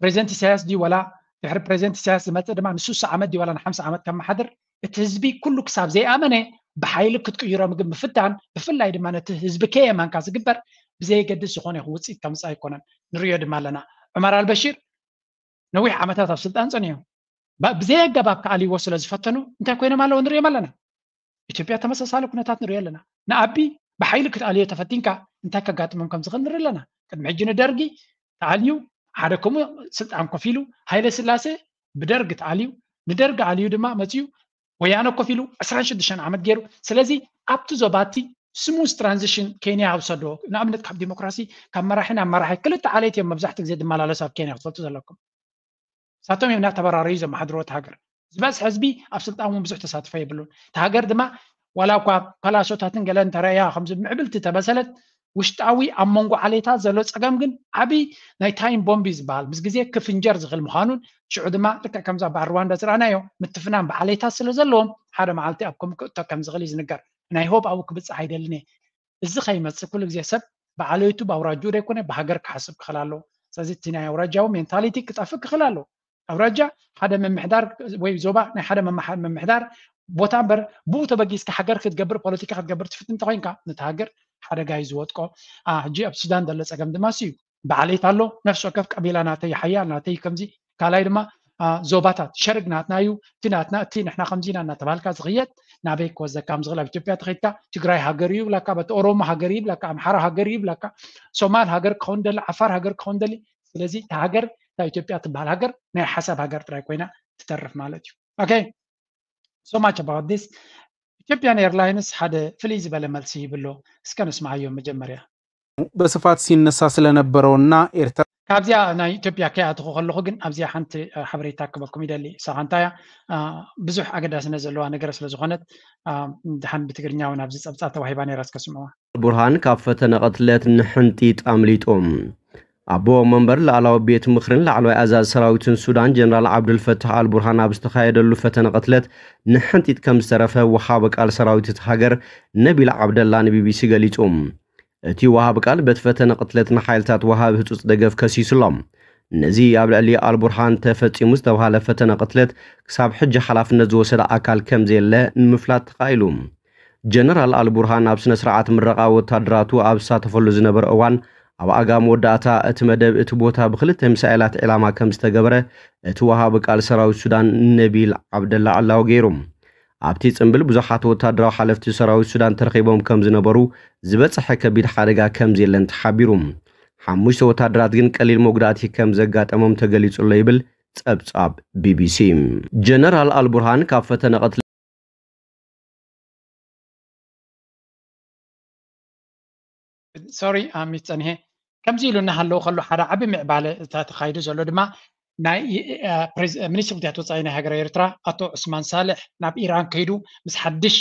ፕሬዚደንት ኢሳያስ ድዩ ወላ ድሕሪ ፕሬዚደንት ኢሳያስ ዝመፅእ ድማ ንሱሳ ዓመት ድዩ ወላ ንሓምሳ ዓመት ከመሓድር እቲ ህዝቢ ኩሉ ክሳብ ዘይኣመነ ብሓይሊ ክትቅይሮም ግን ምፍታን፣ ብፍላይ ድማ ነቲ ህዝቢ ከየማንካ ዝግበር ብዘየገድስ ዝኾነ ይኹን ውፅኢት ከምፅእ ኣይኮነን። ንሪኦ ድማ ኣለና። ዑመር ኣልበሺር ነዊሕ ዓመታት ኣብ ስልጣን ፀኒሑ፣ ባ- ብዘይ ኣገባብ ክኣልይዎ ስለ ዝፈተኑ እንታይ ኮይኖም ኣለዉ ንሪኦም ኣለና። ኢትዮጵያ ተመሳሳሊ ኩነታት ንሪኦ ኣለና። ንኣቢ ብሓይሊ ክትኣልዮ ተፈቲንካ እንታይ ከጋጥሞም ከም ዝኽእል ንርኢ ኣለና። ቅድሚ ሕጂ ንደርጊ ተኣልዩ ሓደ ከምኡ ስልጣን ኮፍ ኢሉ፣ ሃይለ ስላሴ ብደርጊ ተኣልዩ፣ ንደርጊ ኣልዩ ድማ መፅዩ ወያነ ኮፍ ኢሉ ዕስራን ሽዱሽተን ዓመት ገይሩ። ስለዚ ኣብቲ ዞባቲ ስሙዝ ትራንዚሽን ኬንያ ኣብ ሰዶ ንኣብነት ካብ ዲሞክራሲ ካብ መራሒ ናብ መራሒ ክልተ ዓሌት እዮም መብዛሕትኡ ግዜ ዝመላለሱ ኣብ ኬንያ ክትፈልጡ ዘለኩም። ሳቶም እዮም እናተበራረዩ ዘመሓድሮ እቲ ሃገር። ዝበዝሕ ህዝቢ ኣብ ስልጣን እውን ብዙሕ ተሳትፎ የብሉን። እቲ ሃገር ድማ ዋላ እኳ ፓላሶታትን ገለን ተረእያ ከምዚ ምዕብልቲ ተመሰለት ውሽጣዊ ኣብ መንጎ ዓሌታት ዘሎ ፀገም ግን ዓብይ ናይ ታይም ቦምብ እዩ ዝበሃል ምስ ግዜ ክፍንጀር ዝኽእል ምዃኑን ሽዑ ድማ ልክዕ ከምዛ በዓል ሩዋንዳ ዝረኣናዮ ምትፍናን ብዓሌታት ስለ ዘለዎም ሓደ መዓልቲ ኣብ ከምኡ ክእቶ ከም ዝኽእል እዩ ዝንገር። ናይ ሆብ ኣብኡ ክብፅሕ ኣይደልን እየ። እዚ ከይመፅእ ኩሉ ግዜ ሰብ ብዓሌቱ ብኣውራጅኡ ዘይኮነ ብሃገር ክሓስብ ክኽእል ኣለዎ። ስለዚ እቲ ናይ ኣውራጃዊ ሜንታሊቲ ክጠፍእ ክኽእል ኣለዎ። ኣውራጃ ሓደ ምምሕዳር ወይ ዞባ ናይ ሓደ መማሓ- ምምሕዳር ቦታ እምበር ብኡ ተበጊስካ ሃገር ክትገብር ፖለቲካ ክትገብር ትፍትን እንተኮይንካ ነቲ ሃገር ሓደጋ እዩ ዝወጥቆ። ሕጂ ኣብ ሱዳን ዘሎ ፀገም ድማ እዩ። ብዓሌት ኣሎ። ነፍሲ ወከፍ ቀቢላ ናተይ ሓያል ናተይ ከምዚ ካልኣይ ድማ ዞባታት ሸርግ ናትና እዩ እቲ ናትና እቲ ንሕና ከምዚ ኢና እናተባሃልካ ዝኽየድ ናበይ ክወስደካ ከም ዝኽእል ኣብ ኢትዮጵያ ተኸይድካ ትግራይ ሃገር እዩ ይብላካ በቲ ኦሮሞ ሃገር እዩ ይብላካ ኣምሓራ ሃገር እዩ ይብላካ ሶማል ሃገር ክኸውን ደሊ ዓፋር ሃገር ክኸውን ደሊ ስለዚ እታ ሃገር እታ ኢትዮጵያ ትበሃል ሃገር ናይ ሓሳብ ሃገር ጥራይ ኮይና ትተርፍ ማለት እዩ okay so much about this Ethiopian Airlines ሓደ ፍልይ ዝበለ መልሲ ይብሎ እስከ ንስማዓዮ መጀመርያ በስፋት ሲነሳ ስለነበረውና ኤርትራ ካብዚኣ ናይ ኢትዮጵያ ከይኣትኹ ከለኹ ግን ኣብዚኣ ሓንቲ ሓበሬታ ክበኩም ይደሊ እሳኻ እንታይ እያ ብዙሕ ኣገዳስነት ዘለዋ ነገር ስለዝኾነት ድሓን ብትግርኛ እውን ኣብዚ ፀብፃብ ተዋሂባ ነይራ እስከ ስምዕዋ ቡርሃን ካብ ፈተነ ቅትለት ንሕንጢጥ ኣምሊጡ ኣቦ መንበር ላዕላዊ ቤት ምኽርን ላዕለዋይ ኣዛዚ ሰራዊትን ሱዳን ጀነራል ዓብዱልፈታሕ ኣልቡርሃን ኣብ ዝተኻየደሉ ፈተነ ቅትለት ንሕንጢጥ ከም ዝተረፈ ወሃቢ ቃል ሰራዊት እቲ ሃገር ነቢል ዓብደላ ንቢቢሲ ገሊጹ። እቲ ወሃቢ ቃል በቲ ፈተነ ቅትለት ንሓይልታት ወሃቢ ህጹጽ ደገፍ ከሲሱ ኣሎ። ነዚ ኣብ ልዕሊ ኣልቡርሃን ተፈጺሙ ዝተባህለ ፈተነ ቅትለት ክሳብ ሕጂ ሓላፍነት ዝወሰደ ኣካል ከም ዘየለ ንምፍላጥ ተኻኢሉ። ጀነራል ኣልቡርሃን ኣብ ስነ ስርዓት ምረቓ ወታደራቱ ኣብ ዝሳተፈሉ ዝነበረ እዋን ኣብ ኣጋ መወዳእታ እቲ መደብ እቲ ቦታ ብክልተ ሚሳኤላት ዒላማ ከም ዝተገበረ እቲ ወሃቢ ቃል ሰራዊት ሱዳን ነቢል ዓብደላ ዕላዊ ገይሩ። ኣብቲ ጽምብል ብዙሓት ወታደራዊ ሓለፍቲ ሰራዊት ሱዳን ተረኺቦም ከም ዝነበሩ ዝበጽሐ ከቢድ ሓደጋ ከም ዘየለን ተሓቢሩ። ሓሙሽተ ወታደራት ግን ቀሊል መጉዳእቲ ከም ዘጋጠሞም ተገሊጹ ኣሎ ይብል ጸብጻብ ቢቢሲ። ጀነራል ኣልቡርሃን ካብ ፈተነ ቅትለት ሶሪ ኣሚት ፀኒሐ ከምዚ ኢሉ እናሃለዉ ከሎ ሓደ ዓቢ ምዕባለ እታ ተኻይዱ ዘሎ ድማ ናይ ሚኒስትር ጉዳያት ወፃኢ ናይ ሃገር ኤርትራ ኣቶ ዑስማን ሳልሕ ናብ ኢራን ከይዱ ምስ ሓድሽ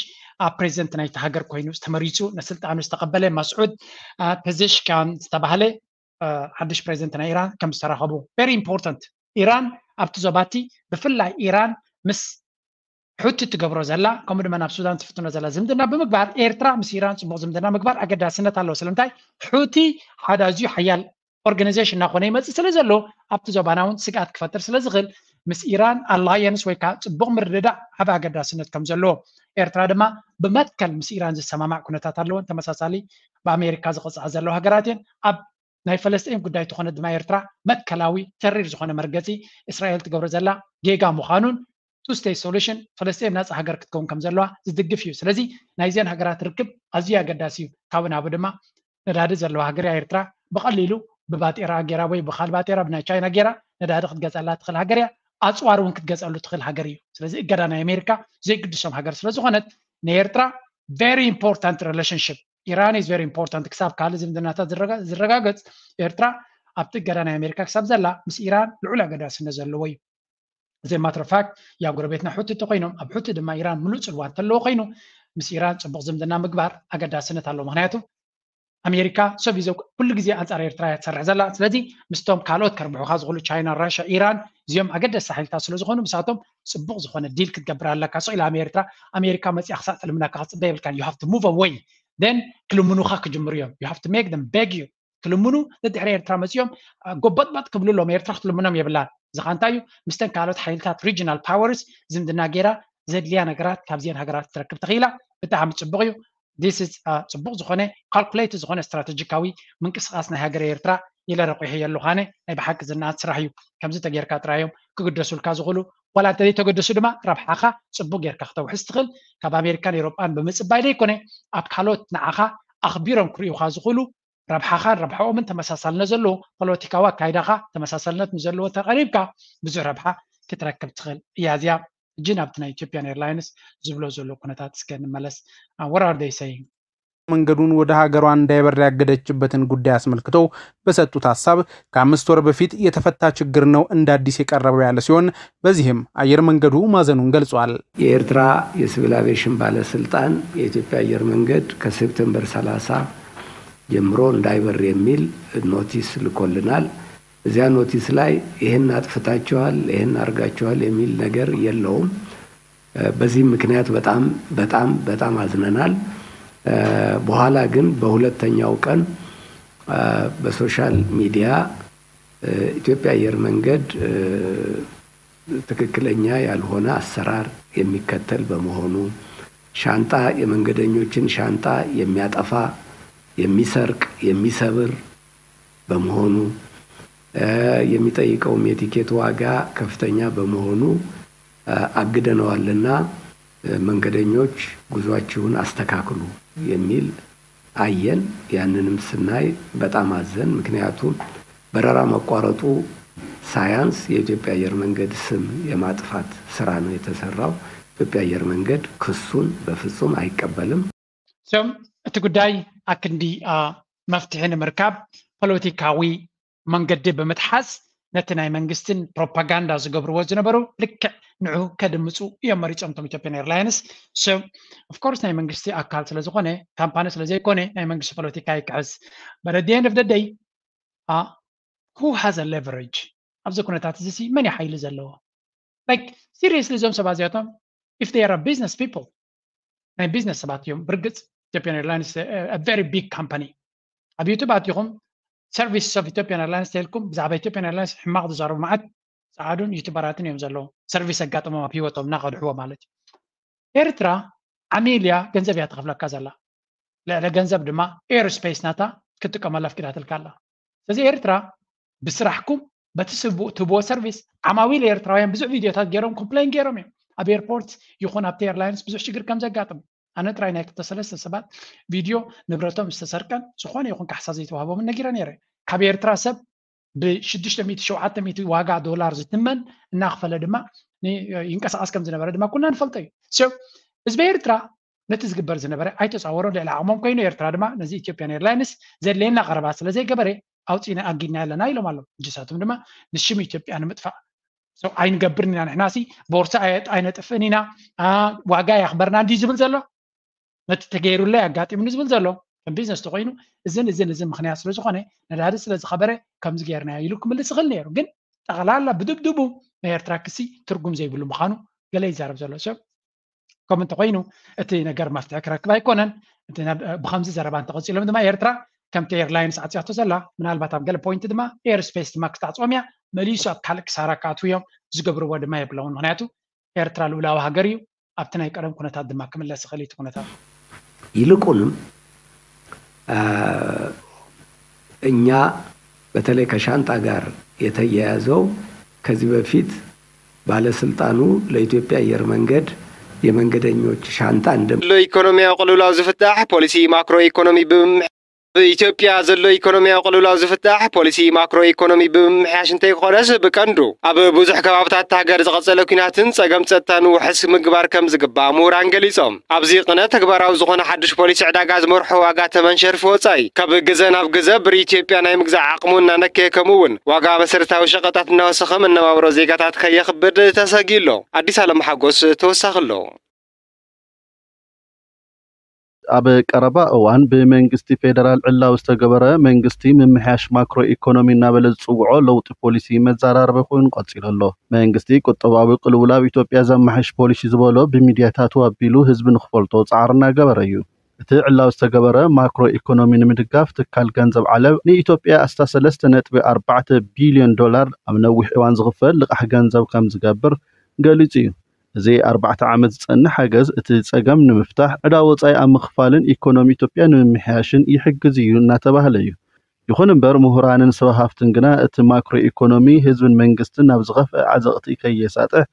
ፕሬዚደንት ናይቲ ሃገር ኮይኑ ዝተመሪፁ ንስልጣኑ ዝተቐበለ መስዑድ ፐዘሽካን ዝተባህለ ሓድሽ ፕሬዚደንት ናይ ኢራን ከም ዝተራኸቡ very important ኢራን ኣብቲ ዞባቲ ብፍላይ ኢራን ምስ ሑቲ ትገብሮ ዘላ ከምኡ ድማ ናብ ሱዳን ትፍትኖ ዘላ ዝምድና ብምግባር ኤርትራ ምስ ኢራን ፅቡቅ ዝምድና ምግባር ኣገዳስነት ኣለዎ ስለምንታይ ሑቲ ሓደ ኣዝዩ ሓያል ኦርጋናይዜሽን እናኾነ ይመፅእ ስለ ዘሎ ኣብቲ ዞባና እውን ስግኣት ክፈጥር ስለ ዝኽእል ምስ ኢራን ኣላየንስ ወይ ከዓ ፅቡቅ ምርድዳእ ዓብ ኣገዳስነት ከም ዘለዎ ኤርትራ ድማ ብመትከል ምስ ኢራን ዝሰማማዕ ኩነታት ኣለዎን ተመሳሳሊ ብኣሜሪካ ዝቕፅዓ ዘለዋ ሃገራት እየን ኣብ ናይ ፈለስጢን ጉዳይ ተኾነ ድማ ኤርትራ መትከላዊ ተሪር ዝኾነ መርገፂ እስራኤል ትገብሮ ዘላ ጌጋ ምዃኑን two state solution ፈለስጢን ናፃ ሃገር ክትከውን ከም ዘለዋ ዝድግፍ እዩ ስለዚ ናይዘን ሃገራት ርክብ ኣዝዩ ኣገዳሲ እዩ ካብኡ ናብኡ ድማ ነዳዲ ዘለዋ ሃገር እያ ኤርትራ ብቐሊሉ ብባጤራ ገይራ ወይ ብኻል ባጤራ ብናይ ቻይና ገይራ ነዳዲ ክትገፀላ ትኽእል ሃገር እያ ኣፅዋር እውን ክትገፀሉ ትኽእል ሃገር እዩ ስለዚ እገዳ ናይ ኣሜሪካ ዘይግድሶም ሃገር ስለዝኾነት ንኤርትራ very important relationship Iran is very important ክሳብ ካልእ ዝምድናታት ዝረጋገፅ ኤርትራ ኣብቲ እገዳ ናይ ኣሜሪካ ክሳብ ዘላ ምስ ኢራን ልዑል ኣገዳስነት ዘለዎ እዩ እዚ matter of fact ያው ጎረቤትና ሑቲ እንተኮይኖም ኣብ ሑቲ ድማ ኢራን ምሉእ ፅልዋ እንተለዎ ኮይኑ ምስ ኢራን ፅቡቅ ዝምድና ምግባር ኣገዳስነት ኣለዎ ምክንያቱ ኣሜሪካ ሰብ ይዘው ኩሉ ግዜ ኣንፃር ኤርትራ እያ ትሰርሕ ዘላ ስለዚ ምስቶም ካልኦት ከርብሑካ ዝኽእሉ ቻይና ራሻ ኢራን እዚኦም ኣገደስቲ ሓይልታት ስለዝኾኑ ምሳቶም ፅቡቅ ዝኾነ ዲል ክትገብር ኣለካ ስቕ ኢላ ኣሜሪካ ኣሜሪካ መፅያ ክሳዕ ትልምነካ ክፅበ የብልካን you have to move away then ክልምኑኻ ክጅምሩ እዮም you have to make them beg you ክልምኑ ደድሕሪ ኤርትራ መፅኦም ጎበጥበጥ ክብሉ ኣለዎም ኤርትራ ክትልምኖም የብላን እዚ ከዓ እንታይ እዩ ምስተን ካልኦት ሓይልታት regional powers ዝምድና ገይራ ዘድልያ ነገራት ካብዚአን ሃገራት ክትረክብ ተኽኢላ ብጣዕሚ ፅቡቕ እዩ። This is ፅቡቕ ዝኾነ ካልኩሌት ዝኾነ ስትራቴጂካዊ ምንቅስቃስ ናይ ሃገረ ኤርትራ ኢለ ረቑሐዮ ኣለኹ። ኣነ ናይ ብሓቂ ዝነኣድ ስራሕ እዩ። ከምዚ ተጌርካ ጥራይ እዮም ክግደሱልካ ዝኽእሉ። ዋላ እንተዘይተገደሱ ድማ ረብሓኻ ፅቡቕ ጌርካ ክተውሕስ ትኽእል። ካብ ኣሜሪካን ኤሮጳን ብምፅባይ ዘይኮነ፣ ኣብ ካልኦት ንዓኻ ኣኽቢሮም ክርእዩኻ ዝኽእሉ ረብሓኻን ረብሓኦምን ተመሳሳልነት ዘለዎ ፖለቲካዊ ኣካይዳኻ ተመሳሳልነት ንዘለዎ ተቐሪብካ ብዙሕ ረብሓ ክትረክብ ትኽእል እያ። እዚኣ ሕጂ ናብቲ ናይ ኢትዮጵያን ኤርላይንስ ዝብሎ ዘሎ ኩነታት እስከ ንመለስ። What are they saying? መንገዱን ወደ ሀገሯ እንዳይበር ያገደችበትን ጉዳይ አስመልክተው በሰጡት ሀሳብ ከአምስት ወር በፊት የተፈታ ችግር ነው እንደ አዲስ የቀረበው ያለ ሲሆን በዚህም አየር መንገዱ ማዘኑን ገልጿል። የኤርትራ የሲቪል አቪዬሽን ባለስልጣን የኢትዮጵያ አየር መንገድ ከሴፕቴምበር ሠላሳ ጀምሮ እንዳይበር የሚል ኖቲስ ልኮልናል። እዚያ ኖቲስ ላይ ይህን አጥፍታችኋል፣ ይህን አድርጋችኋል የሚል ነገር የለውም። በዚህ ምክንያት በጣም በጣም በጣም አዝነናል። በኋላ ግን በሁለተኛው ቀን በሶሻል ሚዲያ ኢትዮጵያ አየር መንገድ ትክክለኛ ያልሆነ አሰራር የሚከተል በመሆኑ፣ ሻንጣ፣ የመንገደኞችን ሻንጣ የሚያጠፋ፣ የሚሰርቅ፣ የሚሰብር በመሆኑ፣ የሚጠይቀውም የቲኬት ዋጋ ከፍተኛ በመሆኑ አግደነዋልና መንገደኞች ጉዟችሁን አስተካክሉ የሚል አየን። ያንንም ስናይ በጣም አዘን። ምክንያቱም በረራ መቋረጡ ሳያንስ የኢትዮጵያ አየር መንገድ ስም የማጥፋት ስራ ነው የተሰራው። ኢትዮጵያ አየር መንገድ ክሱን በፍጹም አይቀበልም። እቲ ጉዳይ ኣክንዲ መፍትሒ ንምርካብ ፖለቲካዊ መንገዲ ብምትሓዝ ነቲ ናይ መንግስትን ፕሮፓጋንዳ ዝገብርዎ ዝነበሩ ልክዕ ንዑ ከድምፁ እዮም መሪፆም እቶም ኢትዮጵያን ኤርላይንስ። So of course ናይ መንግስቲ ኣካል ስለዝኾነ ካምፓኒ ስለዘይኮነ ናይ መንግስቲ ፖለቲካ ይክሕስ። But at the end of the day who has a leverage ኣብዚ ኩነታት እዚ መን ሓይሊ ዘለዎ? Like seriously እዞም ሰባት እዚኣቶም if they are business people ናይ ቢዝነስ ሰባት እዮም። ብርግፅ ኢትዮጵያን ኤርላይንስ very big company ኣብ ዩቱብ ኣቲኹም service of ኢትዮጵያን ኤርላይንስ ተልኩም ብዛዕባ ኢትዮጵያን ኤርላይንስ ሕማቕ ዝዛረቡ መዓት ፃዓዱን ዩቱበራትን እዮም ዘለዉ። ሰርቪስ ኣጋጥሞም ኣብ ህይወቶም እናኸድሕዎ ማለት እዩ። ኤርትራ ዓሚል እያ ገንዘብ እያ ተኸፍለካ ዘላ። ልዕሊ ገንዘብ ድማ ኤርስፔስ ናታ ክትጥቀመሉ ኣፍቂዳትልካ ኣላ። ስለዚ ኤርትራ ብስራሕኩም በቲ ትህብዎ ሰርቪስ ዓማዊል ኤርትራውያን ብዙሕ ቪድዮታት ገይሮም ኮምፕሌን ገይሮም እዮም ኣብ ኤርፖርት ይኹን ኣብቲ ኤርላይንስ ብዙሕ ሽግር ከም ዘጋጥም። ኣነ ጥራይ ናይ ክልተ ሰለስተ ሰባት ቪድዮ ንብረቶም ዝተሰርቀን ዝኾነ ይኹን ካሕሳ ዘይተዋህቦምን ነጊረ ነይረ። ካብ ኤርትራ ሰብ ብሽዱሽተ ሚእቲ ሸውዓተ ሚእቲ ዋጋ ዶላር ዝትመን እናኽፈለ ድማ ይንቀሳቐስ ከም ዝነበረ ድማ ኩልና ንፈልጦ እዩ። ህዝቢ ኤርትራ ነቲ ዝግበር ዝነበረ ኣይተፃወሮን ልዕሊ ዓቕሞም ኮይኑ ኤርትራ ድማ ነዚ ኢትዮጵያን ኤርላይንስ ዘድልየና ቀረባ ስለዘይገበረ ኣውፂና ኣጊድና ኣለና ኢሎም ኣለዉ። ንሳቶም ድማ ንሽም ኢትዮጵያ ንምጥፋእ ኣይንገብርን ኢና ንሕናሲ ቦርሳ ኣይነጥፍእን ኢና ዋጋ የኽበርና እንዲ ዝብል ዘሎ ነቲ ተገይሩለይ ኣጋጢሙኒ ዝብል ዘሎ ከም ቢዝነስ ተኮይኑ እዝን እዝን እዝን ምክንያት ስለዝኮነ ነዳዲ ስለዝኸበረ ከምዚ ገይርና ኢሉ ክምልስ ይኽእል ነይሩ። ግን ጠቕላላ ብድብድቡ ናይ ኤርትራ ክሲ ትርጉም ዘይብሉ ምዃኑ ገለ ይዛረብ ዘሎ ሰብ ከም እንተኮይኑ እቲ ነገር መፍትሒ ክረክብ ኣይኮነን። ብከምዚ ዘረባ እንተቀፂሎም ድማ ኤርትራ ከምቲ ኤርላይንስ ዓፅያቶ ዘላ ምናልባት ኣብ ገለ ፖይንት ድማ ኤርስፔስ ድማ ክተዕፅዎም እያ። መሊሱ ኣብ ካልእ ክሳራ ክኣትዉ እዮም። ዝገብርዎ ድማ የብለውን። ምክንያቱ ኤርትራ ልኡላዊ ሃገር እዩ። ኣብቲ ናይ ቀደም ኩነታት ድማ ክምለስ ይኽእል እቲ ኩነታት። ይልቁንም እኛ በተለይ ከሻንጣ ጋር የተያያዘው ከዚህ በፊት ባለስልጣኑ ለኢትዮጵያ አየር መንገድ የመንገደኞች ሻንጣ እንደ ኢኮኖሚያዊ ቅልውላው ዝፍታሕ ፖሊሲ ማክሮ ኢኮኖሚ ብምምሕ ብኢትዮጵያ ዘሎ ኢኮኖሚያዊ ቅልውላው ዝፍታሕ ፖሊሲ ማክሮ ኢኮኖሚ ብምምሕያሽ እንተይኮነስ ብቀንዱ ኣብ ብዙሕ ከባብታት ሃገር ዝቐጸለ ኲናትን ጸገም ጸጥታን ውሕስ ምግባር ከም ዝግባእ ምሁራን ገሊጾም። ኣብዚ ቅነ ተግባራዊ ዝኾነ ሓድሽ ፖሊሲ ዕዳጋ ዝመርሖ ዋጋ ተመን ሸርፊ ወጻኢ ካብ ግዘ ናብ ግዘ ብር ኢትዮጵያ ናይ ምግዛእ ዓቕሙ እናነከየ ከምኡ እውን ዋጋ መሰረታዊ ሸቐጣት እናወሰኸ መነባብሮ ዜጋታት ከየኽብድ ተሰጊኡ ኣሎ። ኣዲስ ኣለም ሓጎስ ተወሳኺ ኣሎ። ኣብ ቀረባ እዋን ብመንግስቲ ፌደራል ዕላዊ ዝተገበረ መንግስቲ ምምሕያሽ ማክሮ ኢኮኖሚ እናበለ ዝፅውዖ ለውጢ ፖሊሲ መዘራረቢ ኮይኑ ቀፂሉ ኣሎ። መንግስቲ ቁጠባዊ ቅልውላው ኢትዮጵያ ዘማሕሽ ፖሊሲ ዝበሎ ብሚድያታቱ ኣቢሉ ህዝቢ ንክፈልጦ ፃዕሪ እናገበረ እዩ። እቲ ዕላዊ ዝተገበረ ማክሮ ኢኮኖሚ ንምድጋፍ ትካል ገንዘብ ዓለም ንኢትዮጵያ ኣስታ ሰለስተ ነጥቢ ኣርባዕተ ቢልዮን ዶላር ኣብ ነዊሕ እዋን ዝኽፈል ልቓሕ ገንዘብ ከም ዝገብር ገሊፁ እዩ። እዚ ኣርባዕተ ዓመት ዝጸንሕ ሓገዝ እቲ ጸገም ንምፍታሕ፣ ዕዳ ወጻኢ ኣብ ምኽፋልን ኢኮኖሚ ኢትዮጵያ ንምምሕያሽን ይሕግዝ እዩ እናተባህለ እዩ። ይኹን እምበር፣ ምሁራንን ሰብ ሃፍትን ግና እቲ ማክሮ ኢኮኖሚ ህዝብን መንግስትን ናብ ዝኸፍአ ዓዘቕቲ ከየሳጥሕ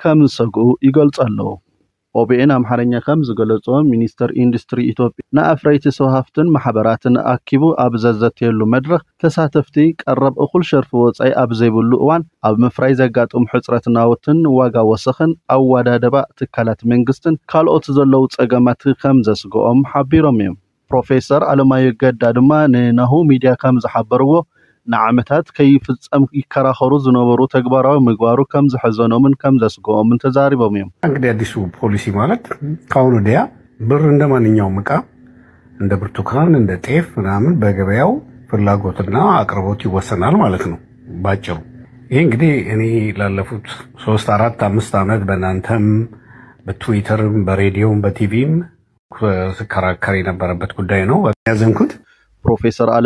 ከም ዝሰግኡ ይገልጹ ኣለዉ። ኦቢኤን ኣምሓርኛ ከም ዝገለጾ፣ ሚኒስተር ኢንዱስትሪ ኢትዮጵያ ንኣፍረይቲ ሰብ ሃፍትን ማሕበራትን ኣኪቡ ኣብ ዘዘተየሉ መድረኽ፣ ተሳተፍቲ ቀረብ እኹል ሸርፊ ወጻኢ ኣብ ዘይብሉ እዋን ኣብ ምፍራይ ዘጋጥሙ ሕጽረት ናውትን ዋጋ ወሰኽን ኣወዳድባ ትካላት መንግስትን ካልኦት ዘለዉ ጸገማት ከም ዘስግኦም ሓቢሮም እዮም። ፕሮፌሰር ኣለማዮ ገዳ ድማ ንናሁ ሚድያ ከም ዝሓበርዎ፣ ንዓመታት ከይፍጸም ይከራኸሩ ዝነበሩ ተግባራዊ ምግባሩ ከም ዘሐዘኖምን ከም ዘስግኦምን ተዛሪቦም እዮም። እንግዲህ አዲሱ ፖሊሲ ማለት ከአሁን ወዲያ ብር እንደ ማንኛውም እቃ እንደ ብርቱካን፣ እንደ ጤፍ ምናምን በገበያው ፍላጎትና አቅርቦት ይወሰናል ማለት ነው ባጭሩ። ይህ እንግዲህ እኔ ላለፉት ሶስት አራት አምስት ዓመት በእናንተም በትዊተርም በሬዲዮም በቲቪም ስከራከር የነበረበት ጉዳይ ነው። ያዘንኩት ፕሮፌሰር ኣለ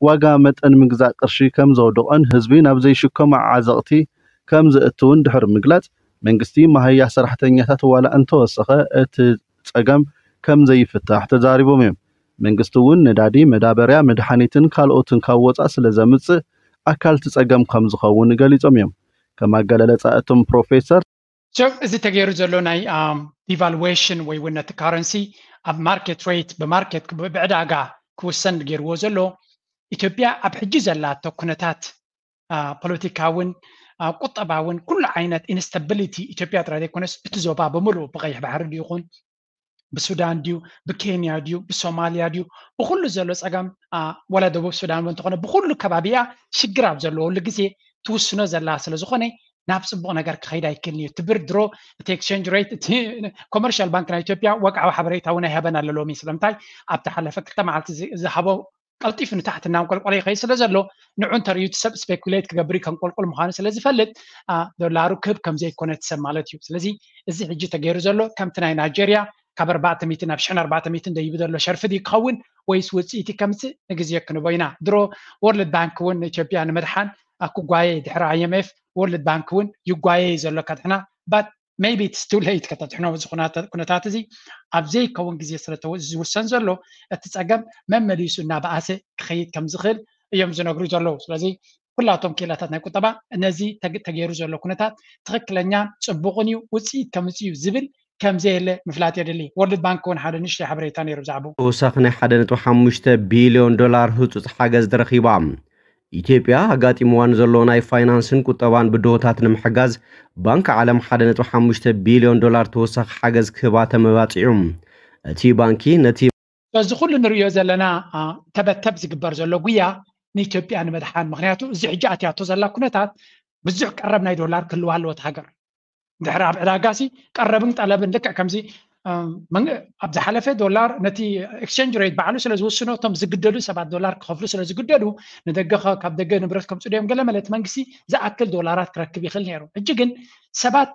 ዋጋ መጠን ምግዛእ ቅርሺ ከም ዘውድቖን ህዝቢ ናብ ዘይሽከሞ ዓዘቕቲ ከም ዘእትውን ድሕሪ ምግላጽ፣ መንግስቲ መሃያ ሰራሕተኛታት ዋላ እንተወሰኸ እቲ ጸገም ከም ዘይፍታሕ ተዛሪቦም እዮም። መንግስቲ እውን ነዳዲ፣ መዳበርያ፣ መድሓኒትን ካልኦትን ካብ ወጻእ ስለ ዘምጽእ ኣካል እቲ ጸገም ከም ዝኸውን ገሊጾም እዮም። ከም ኣገላልጻ እቶም ፕሮፌሰር፣ So እዚ ተገይሩ ዘሎ ናይ devaluation ወይ እውን ነቲ currency ኣብ market rate ብማርኬት ብዕዳጋ ክውሰን ገይርዎ ዘሎ ኢትዮጵያ ኣብ ሕጂ ዘላቶ ኩነታት ፖለቲካውን ቁጠባውን ኩሉ ዓይነት instability ኢትዮጵያ ጥራይ ዘይኮነስ እቲ ዞባ ብምሉእ ብቀይሕ ባሕሪ ድዩ ይኹን ብሱዳን ድዩ ብኬንያ ድዩ ብሶማልያ ድዩ ብኩሉ ዘሎ ፀገም ወላ ደቡብ ሱዳን እውን እንተኾነ ብኩሉ ከባቢያ ሽግር ኣብ ዘለወሉ ግዜ ትውስኖ ዘላ ስለዝኾነ ናብ ፅቡቕ ነገር ክኸይድ ኣይክእልን እዩ። እቲ ብር ድሮ እቲ exchange rate እቲ commercial bank ናይ ኢትዮጵያ ወግዓዊ ሓበሬታ እውን ኣይሃበን ኣሎ ሎሚ። ስለምንታይ ኣብቲ ሓለፈ ክልተ መዓልቲ ዝሃቦ ቀልጢፉ ንታሕቲ እናንቆልቆለ ይኸይድ ስለ ዘሎ ንዑ እንተርእዩ እቲ ሰብ speculate ክገብር እዩ ከንቆልቁል ምዃኑ ስለ ዝፈልጥ ዶላሩ ክህብ ከም ዘይኮነ እቲ ሰብ ማለት እዩ። ስለዚ እዚ ሕጂ ተገይሩ ዘሎ ከምቲ ናይ ናይጀርያ ካብ ኣርባዕተ ሚእቲ ናብ ሽሕን ኣርባዕተ ሚእትን ደይቡ ዘሎ ሸርፊ ድዩ ክኸውን ወይስ ውፅኢት ከምፅእ ንግዜ ክንቦ ኢና። ድሮ World Bank እውን ንኢትዮጵያ ንምድሓን ክጓየ ድሕሪ I M F World Bank እውን ይጓየ እዩ ዘሎ ከድሕና but maybe it's too late ከተድሕኖ እዚ ኩነታት እዚ ኣብ ዘይከውን ግዜ ስለ ዝውሰን ዘሎ እቲ ፀገም መመሊሱ እናበኣሰ ክኸይድ ከም ዝኽእል እዮም ዝነግሩ ዘለዉ። ስለዚ ኩላቶም ክኢላታት ናይ ቁጠባ ነዚ ተገይሩ ዘሎ ኩነታት ትኽክለኛ ፅቡቕን እዩ ውፅኢት ከምፅእ እዩ ዝብል ከም ዘየለ ምፍላጥ የድሊ። World Bank እውን ሓደ ንእሽተይ ሓበሬታ ነይሩ ብዛዕባኡ። ተወሳኺ ናይ ሓደ ነጥቢ ሓሙሽተ ቢልዮን ዶላር ህፁፅ ሓገዝ ተረኺባ። ኢትዮጵያ ኣጋጢምዋ ንዘሎ ናይ ፋይናንስን ቁጠባን ብድሆታት ንምሕጋዝ ባንክ ዓለም ሓደ ነጥቢ ሓሙሽተ ቢልዮን ዶላር ተወሳኺ ሓገዝ ክህባ ተመባፂዑ። እቲ ባንኪ ነቲ እዚ ኩሉ ንሪኦ ዘለና ተበተብ ዝግበር ዘሎ ጉያ ንኢትዮጵያ ንምድሓን ምክንያቱ እዚ ሕጂ ኣትያቶ ዘላ ኩነታት ብዙሕ ቀረብ ናይ ዶላር ክህልዋ ኣለዎ እቲ ሃገር። ድሕሪ ኣብ ዕዳጋ ሲ ቀረብን ጠለብን ልክዕ ከምዚ ኣብ ዝሓለፈ ዶላር ነቲ exchange rate ባዕሉ ስለ ዝውስኖ እቶም ዝግደዱ ሰባት ዶላር ክኸፍሉ ስለ ዝግደዱ ንደገ ካብ ደገ ንብረት ከምፅኡ ድዮም ገለ መለ እቲ መንግስቲ ዝኣክል ዶላራት ክረክብ ይኽእል ነይሩ። ሕጂ ግን ሰባት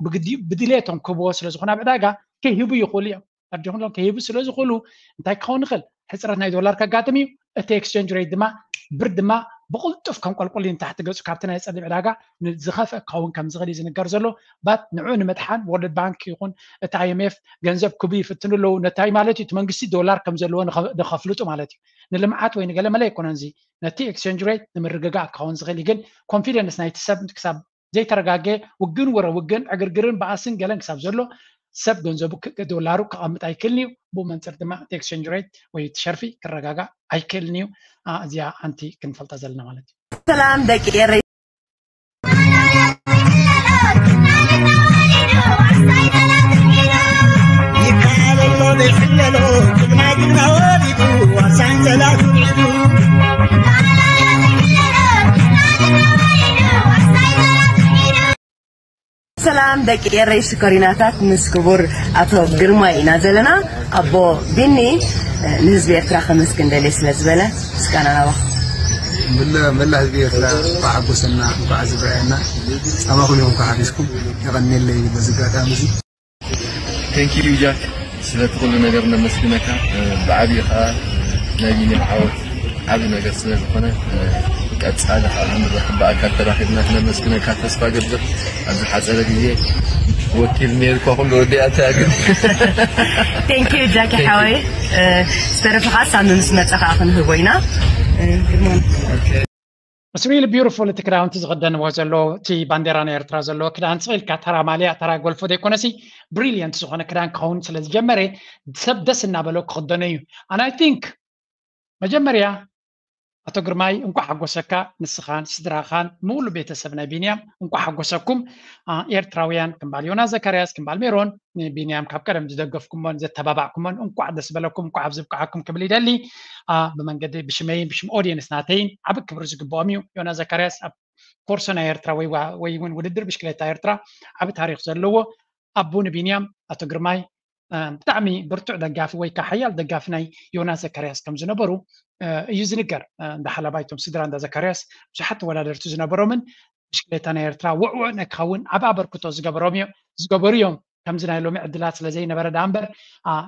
ብድሌቶም ክህብዎ ስለ ዝኾነ ኣብ ዕዳጋ ከይህቡ ይኽእሉ እዮም። ኣዲኹሎም ከይህቡ ስለ ዝኽእሉ እንታይ ክኸውን ይኽእል? ሕፅረት ናይ ዶላር ከጋጥም እዩ። እቲ exchange rate ድማ ብር ድማ ብቕልጡፍ ከም ቆልቁል ንታሕቲ ገፁ ካብቲ ናይ ፀሊም ዕዳጋ ዝኸፍአ ክኸውን ከም ዝኽእል እዩ ዝንገር ዘሎ። ባት ንዑ ንምድሓን World Bank ይኹን እቲ I M F ገንዘብ ክቡ ይፍትኑ ኣለዉ። ነታይ ማለት እዩ እቲ መንግስቲ ዶላር ከም ዘለዎ ንኸፍልጡ ማለት እዩ። ንልምዓት ወይ ንገለ መለ ኣይኮነን እዚ ነቲ exchange rate ንምርግጋእ ክኸውን ዝኽእል እዩ። ግን confidence ናይቲ ሰብ ክሳብ ዘይተረጋገ ውግን ወረ ውግን ዕግርግርን በኣስን ገለን ክሳብ ዘሎ ሰብ ገንዘቡ ዶላሩ ክቐምጥ ኣይክእልን እዩ። ብኡ መንፅር ድማ እቲ exchange rate ወይ እቲ ሸርፊ ክረጋጋእ ኣይክእልን እዩ። እዚኣ ሓንቲ ክንፈልጣ ዘለና ማለት እዩ። ሰላም ደቂ ኤረይ። ሰላም ደቂ ኤረይ ሽኮሪናታት ምስ ክቡር ኣቶ ግርማይ ኢና ዘለና። ኣቦ ቢኒ ንህዝቢ ኤርትራ ከመስግን ደልየ ስለ ዝበለ ምስጋና ናባኹም። መላ ህዝቢ ኤርትራ እንኳዕ ሓጎሰና እንኳዕ ዝብረአና ጻማኹም እዮም እንኳዕ ሓቢስኩም የቐንየለይ በዚ ኣጋጣሚ እዚ። Thank you ጃክ ስለቲ ኩሉ ነገር ነመስግነካ ብዓብዩ ከዓ ናይ ቢኒ ዓወት ዓብ ነገር ስለ ዝኾነ ቀጻሊ ከዓ ንረኽብ ብኣካል ተራኺብና ክነመስግነካ ተስፋ ገብር ኣብ ዝሓፀረ ግዜ ወኪል ኔርኳ ኩሉ ወዲኣታ ግን Thank you ጃኪ ሓወይ። ዝተረፈ ከዓ ሳሚ ምስ መፀ ከዓ ክንህቦ ኢና። It's really beautiful። እቲ ክዳውንቲ ዝኽደንዎ ዘሎ እቲ ባንዴራ ናይ ኤርትራ ዘለዎ ክዳን ስቕ ኢልካ ተራ ማልያ ተራ ጎልፎ ዘይኮነሲ ብሪሊየንት ዝኾነ ክዳን ክኸውን ስለ ዝጀመረ ሰብ ደስ እናበሎ ክኽደኖ እዩ። And I think መጀመርያ ኣቶ ግርማይ እንኳዕ ሓጎሰካ፣ ንስኻን ስድራኻን ምሉ ቤተሰብ ናይ ቢንያም እንኳዕ ሓጎሰኩም። ኤርትራውያን ክምባል ዮና ዘካርያስ ክምባል ሜሮን ንቢንያም ካብ ቀደም ዝደገፍኩሞን ዘተባባዕኩሞን እንኳዕ ደስ በለኩም፣ እንኳዕ ኣብዚ ብቅዓኩም ክብል ይደሊ። ብመንገዲ ብሽመይን ብሽም ኦዲየንስ ናተይን ዓቢ ክብሪ ዝግብኦም እዩ። ዮና ዘካርያስ ኣብ ኮርሶ ናይ ኤርትራ ወይ እውን ውድድር ብሽክሌታ ኤርትራ ዓቢ ታሪክ ዘለዎ ኣቡ ንቢንያም ኣቶ ግርማይ ብጣዕሚ ብርቱዕ ደጋፊ ወይ ከዓ ሓያል ደጋፊ ናይ ዮናስ ዘካርያስ ከም ዝነበሩ እዩ ዝንገር። እንዳ ሓላባይ እቶም ስድራ እንዳ ዘካርያስ ብዙሓት ተወዳደርቲ ዝነበሮምን ብሽክሌታ ናይ ኤርትራ ውዕውዕ ንክኸውን ዓቢ ኣበርክቶ ዝገበሮም እዮም ዝገበሩ እዮም። ከምዚ ናይ ሎሚ ዕድላት ስለ ዘይነበረ ደኣ እምበር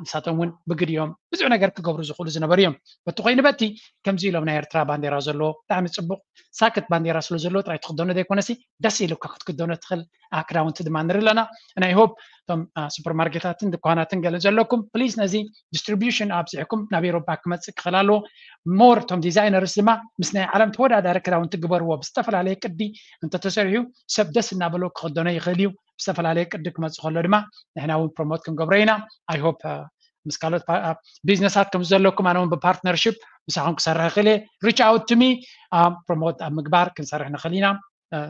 ንሳቶም እውን ብግዲኦም ብዙሕ ነገር ክገብሩ ዝኽእሉ ዝነበሩ እዮም። በቲ ኮይኑ በቲ ከምዚ ኢሎም ናይ ኤርትራ ባንዴራ ዘለዎ ብጣዕሚ ፅቡቅ ሳክት ባንዴራ ስለ ዘለዎ ጥራይ ትክደኖ ዘይኮነሲ ደስ ኢሉካ ክትክደኖ ትኽእል ክዳውንቲ ድማ ንርኢ ኣለና። ናይ ሆፕ እቶም ሱፐርማርኬታትን ድኳናትን ገለ ዘለኩም ፕሊዝ ነዚ ዲስትሪቢሽን ኣብዚሕኩም ናብ ኤሮፓ ክመፅእ ክኽእል ኣለዎ። ሞር እቶም ዲዛይነርስ ድማ ምስ ናይ ዓለም ተወዳዳሪ ክዳውንቲ ግበርዎ። ብዝተፈላለየ ቅዲ እንተተሰሪሑ ሰብ ደስ እናበሎ ክኽደኖ ይኽእል እዩ። ብዝተፈላለየ ቅዲ ክመፅእ ከሎ ድማ ንሕና እውን ፕሮሞት ክንገብሮ ኢና። I hope ምስ ካልኦት ቢዝነሳት ከም ዘለኩም ኣነ እውን ብፓርትነርሽፕ ምሳኹም ክሰርሕ ይኽእል እየ። Reach out to me። ፕሮሞት ኣብ ምግባር ክንሰርሕ ንኽእል ኢና።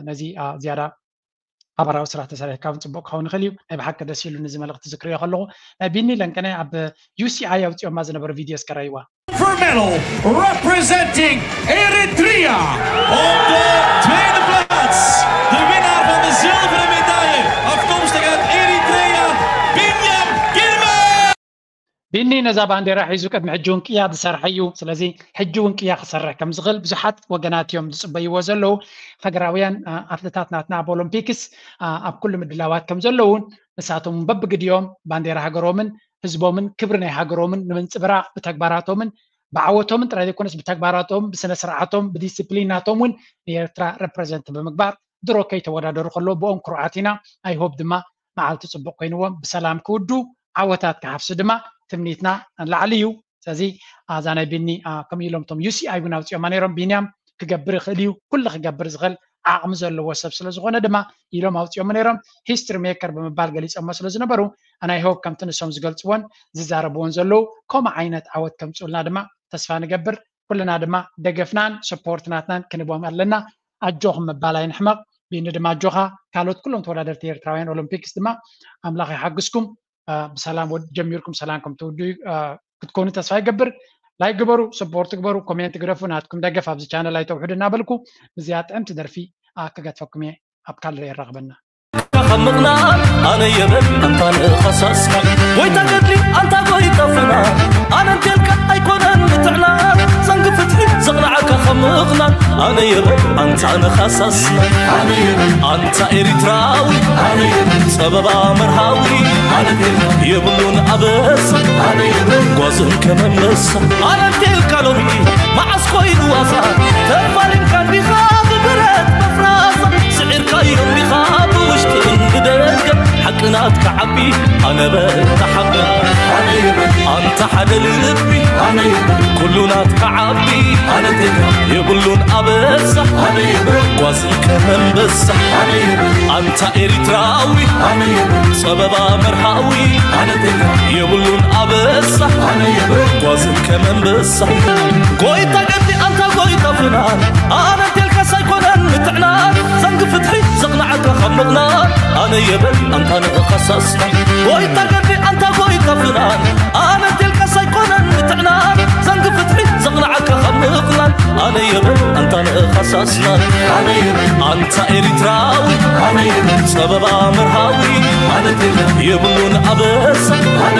ነዚ ዝያዳ ሓባራዊ ስራሕ ተሰሪሕካ እውን ፅቡቅ ክኸውን ይኽእል እዩ። ናይ ብሓቂ ደስ ኢሉ ነዚ መልእክቲ ዝክርዮ ከለኹ ናይ ቢኒ ለንቀነ ኣብ ዩሲኣይ ኣውፅኦማ ዝነበረ ቪድዮ እስከ ረይዋ። Silver medal representing Eritrea. Op de tweede plaats, de winnaar van de zilveren medaille, afkomstig uit Eritrea, Binyam Girma. ቢኒ ነዛ ባንዴራ ሒዙ ቅድሚ ሕጂ እውን ቅያ ዝሰርሐ እዩ። ስለዚ ሕጂ እውን ቅያ ክሰርሕ ከም ዝኽእል ብዙሓት ወገናት እዮም ዝፅበይዎ ዘለዉ። ሃገራውያን ኣትለታት ናትና ኣብ ኦሎምፒክስ ኣብ ኩሉ ምድላዋት ከም ዘለዉ ንሳቶም በብግዲኦም ባንዴራ ሃገሮምን ህዝቦምን ክብሪ ናይ ሃገሮምን ንምንፅብራቅ ብተግባራቶምን ብዓወቶምን ጥራይ ዘይኮነስ ብተግባራቶም ብስነ ስርዓቶም ብዲስፕሊን ናቶም እውን ንኤርትራ ረፕረዘንት ብምግባር ድሮ ከይተወዳደሩ ከለዉ ብኦም ኩርዓት ኢና። I hope ድማ መዓልቲ ፅቡቅ ኮይንዎም ብሰላም ክውዱ ዓወታት ክሓፍሱ ድማ ትምኒትና ንላዕሊ እዩ። ስለዚ ኣዛ ናይ ቢኒ ከምኡ ኢሎም እቶም ዩሲኣይ እውን ኣውፅኦማ ነይሮም። ቢንያም ክገብር ይኽእል እዩ፣ ኩሉ ክገብር ዝኽእል ዓቕሚ ዘለዎ ሰብ ስለ ዝኾነ ድማ ኢሎም ኣውፅኦሞ ነይሮም። ሂስትሪ ሜከር ብምባል ገሊፆሞ ስለ ዝነበሩ ኣናይ ሆፕ ከምቲ ንሶም ዝገልፅዎን ዝዛረብዎን ዘለዉ ከምኡ ዓይነት ዓወት ከምፅኡልና ድማ ተስፋ ንገብር። ኩልና ድማ ደገፍናን ሰፖርት ናትናን ክንቦም ኣለና። ኣጆኹም ምባል ኣይንሕመቕ። ቢኒ ድማ ኣጆኻ። ካልኦት ኩሎም ተወዳደርቲ ኤርትራውያን ኦሎምፒክስ ድማ ኣምላኽ ይሓግዝኩም። ብሰላም ጀሚርኩም ሰላም ከም ትውዱ ክትኮኑ ተስፋ ይገብር። ላይክ ግበሩ፣ ሰፖርት ግበሩ፣ ኮሜንት ግደፉ። ናትኩም ደገፍ ኣብዚ ቻነል ኣይተውሕዱ እናበልኩ ምስዚኣ ጥዕምቲ ደርፊ ክገድፈኩም እየ። ኣብ ካልእ የራኽበና። ከኸምቕና ኣነ የበል ኣንታ ንኸሳስካ ጎይታ ገድሊ ኣንታ ጎይታ ፍና ኣነ እንቴልካ ኣይኮነን ምትዕና ዘንግ ፍትሒ ዘቕናዓካ ኸምቕና ኣነ የበል ኣንታ ንኸሳስና ኣነ የበል ኣንታ ኤሪትራዊ ኣነ የበል ጸበባ መርሃዊ ኣነ እንቴልካ የብሉን ኣበሳ ኣነ የበል ጓዝን ከመመሳ ኣነ እንቴልካ ሎሚ መዓስ ኮይኑ ዋሳ ተፋሊምካ እንዲኻ ብብረት መፍራሳ ስዒርካዮ እንዲኻ ብውሽጥን ብደገ ሓቂ ናትካ ዓቢ ኣነ በል ተሓበ ኣነ የበል ኣንታ ሓደ ልቢ ኣነ የበል ኩሉ ናትካ ዓቢ ኣነ እንቴልካ የብሉን ኣበሳ ኣነ የበል ጓዝን ከመንበሳ ኣነ የበል ኣንታ ኤሪትራዊ ኣነ የበል ጸበባ መርሃዊ ኣነ እንቴልካ የብሉን ኣበሳ ኣነ የበል ጓዝን ከመንበሳ ጎይታ ገዲ ኣንታ ጎይታ ፍናን ኣነ እንቴልካስ ኣይኮነን ምትዕናን ዘንግ ፍትሒ ዘቕናዓካ ካብ ምቕናን ኣነ የበል ኣንታ ንኸሳስና ጎይታ ገዲ ኣንታ ጎይታ ፍናን ኣነ እንቴልካስ ኣይኮነን ምትዕናን ዘንግ ፍትሒ ዘቕናዓካ ካብ ምቕናን ኣነ የበል ኣንታ ንኸሳስና ኣነ የበል ኣንታ ኤሪትራዊ ኣነ የበል ጸበባ መርሃዊ ኣነ እንቴልካ የብሉን ኣበሳ ኣነ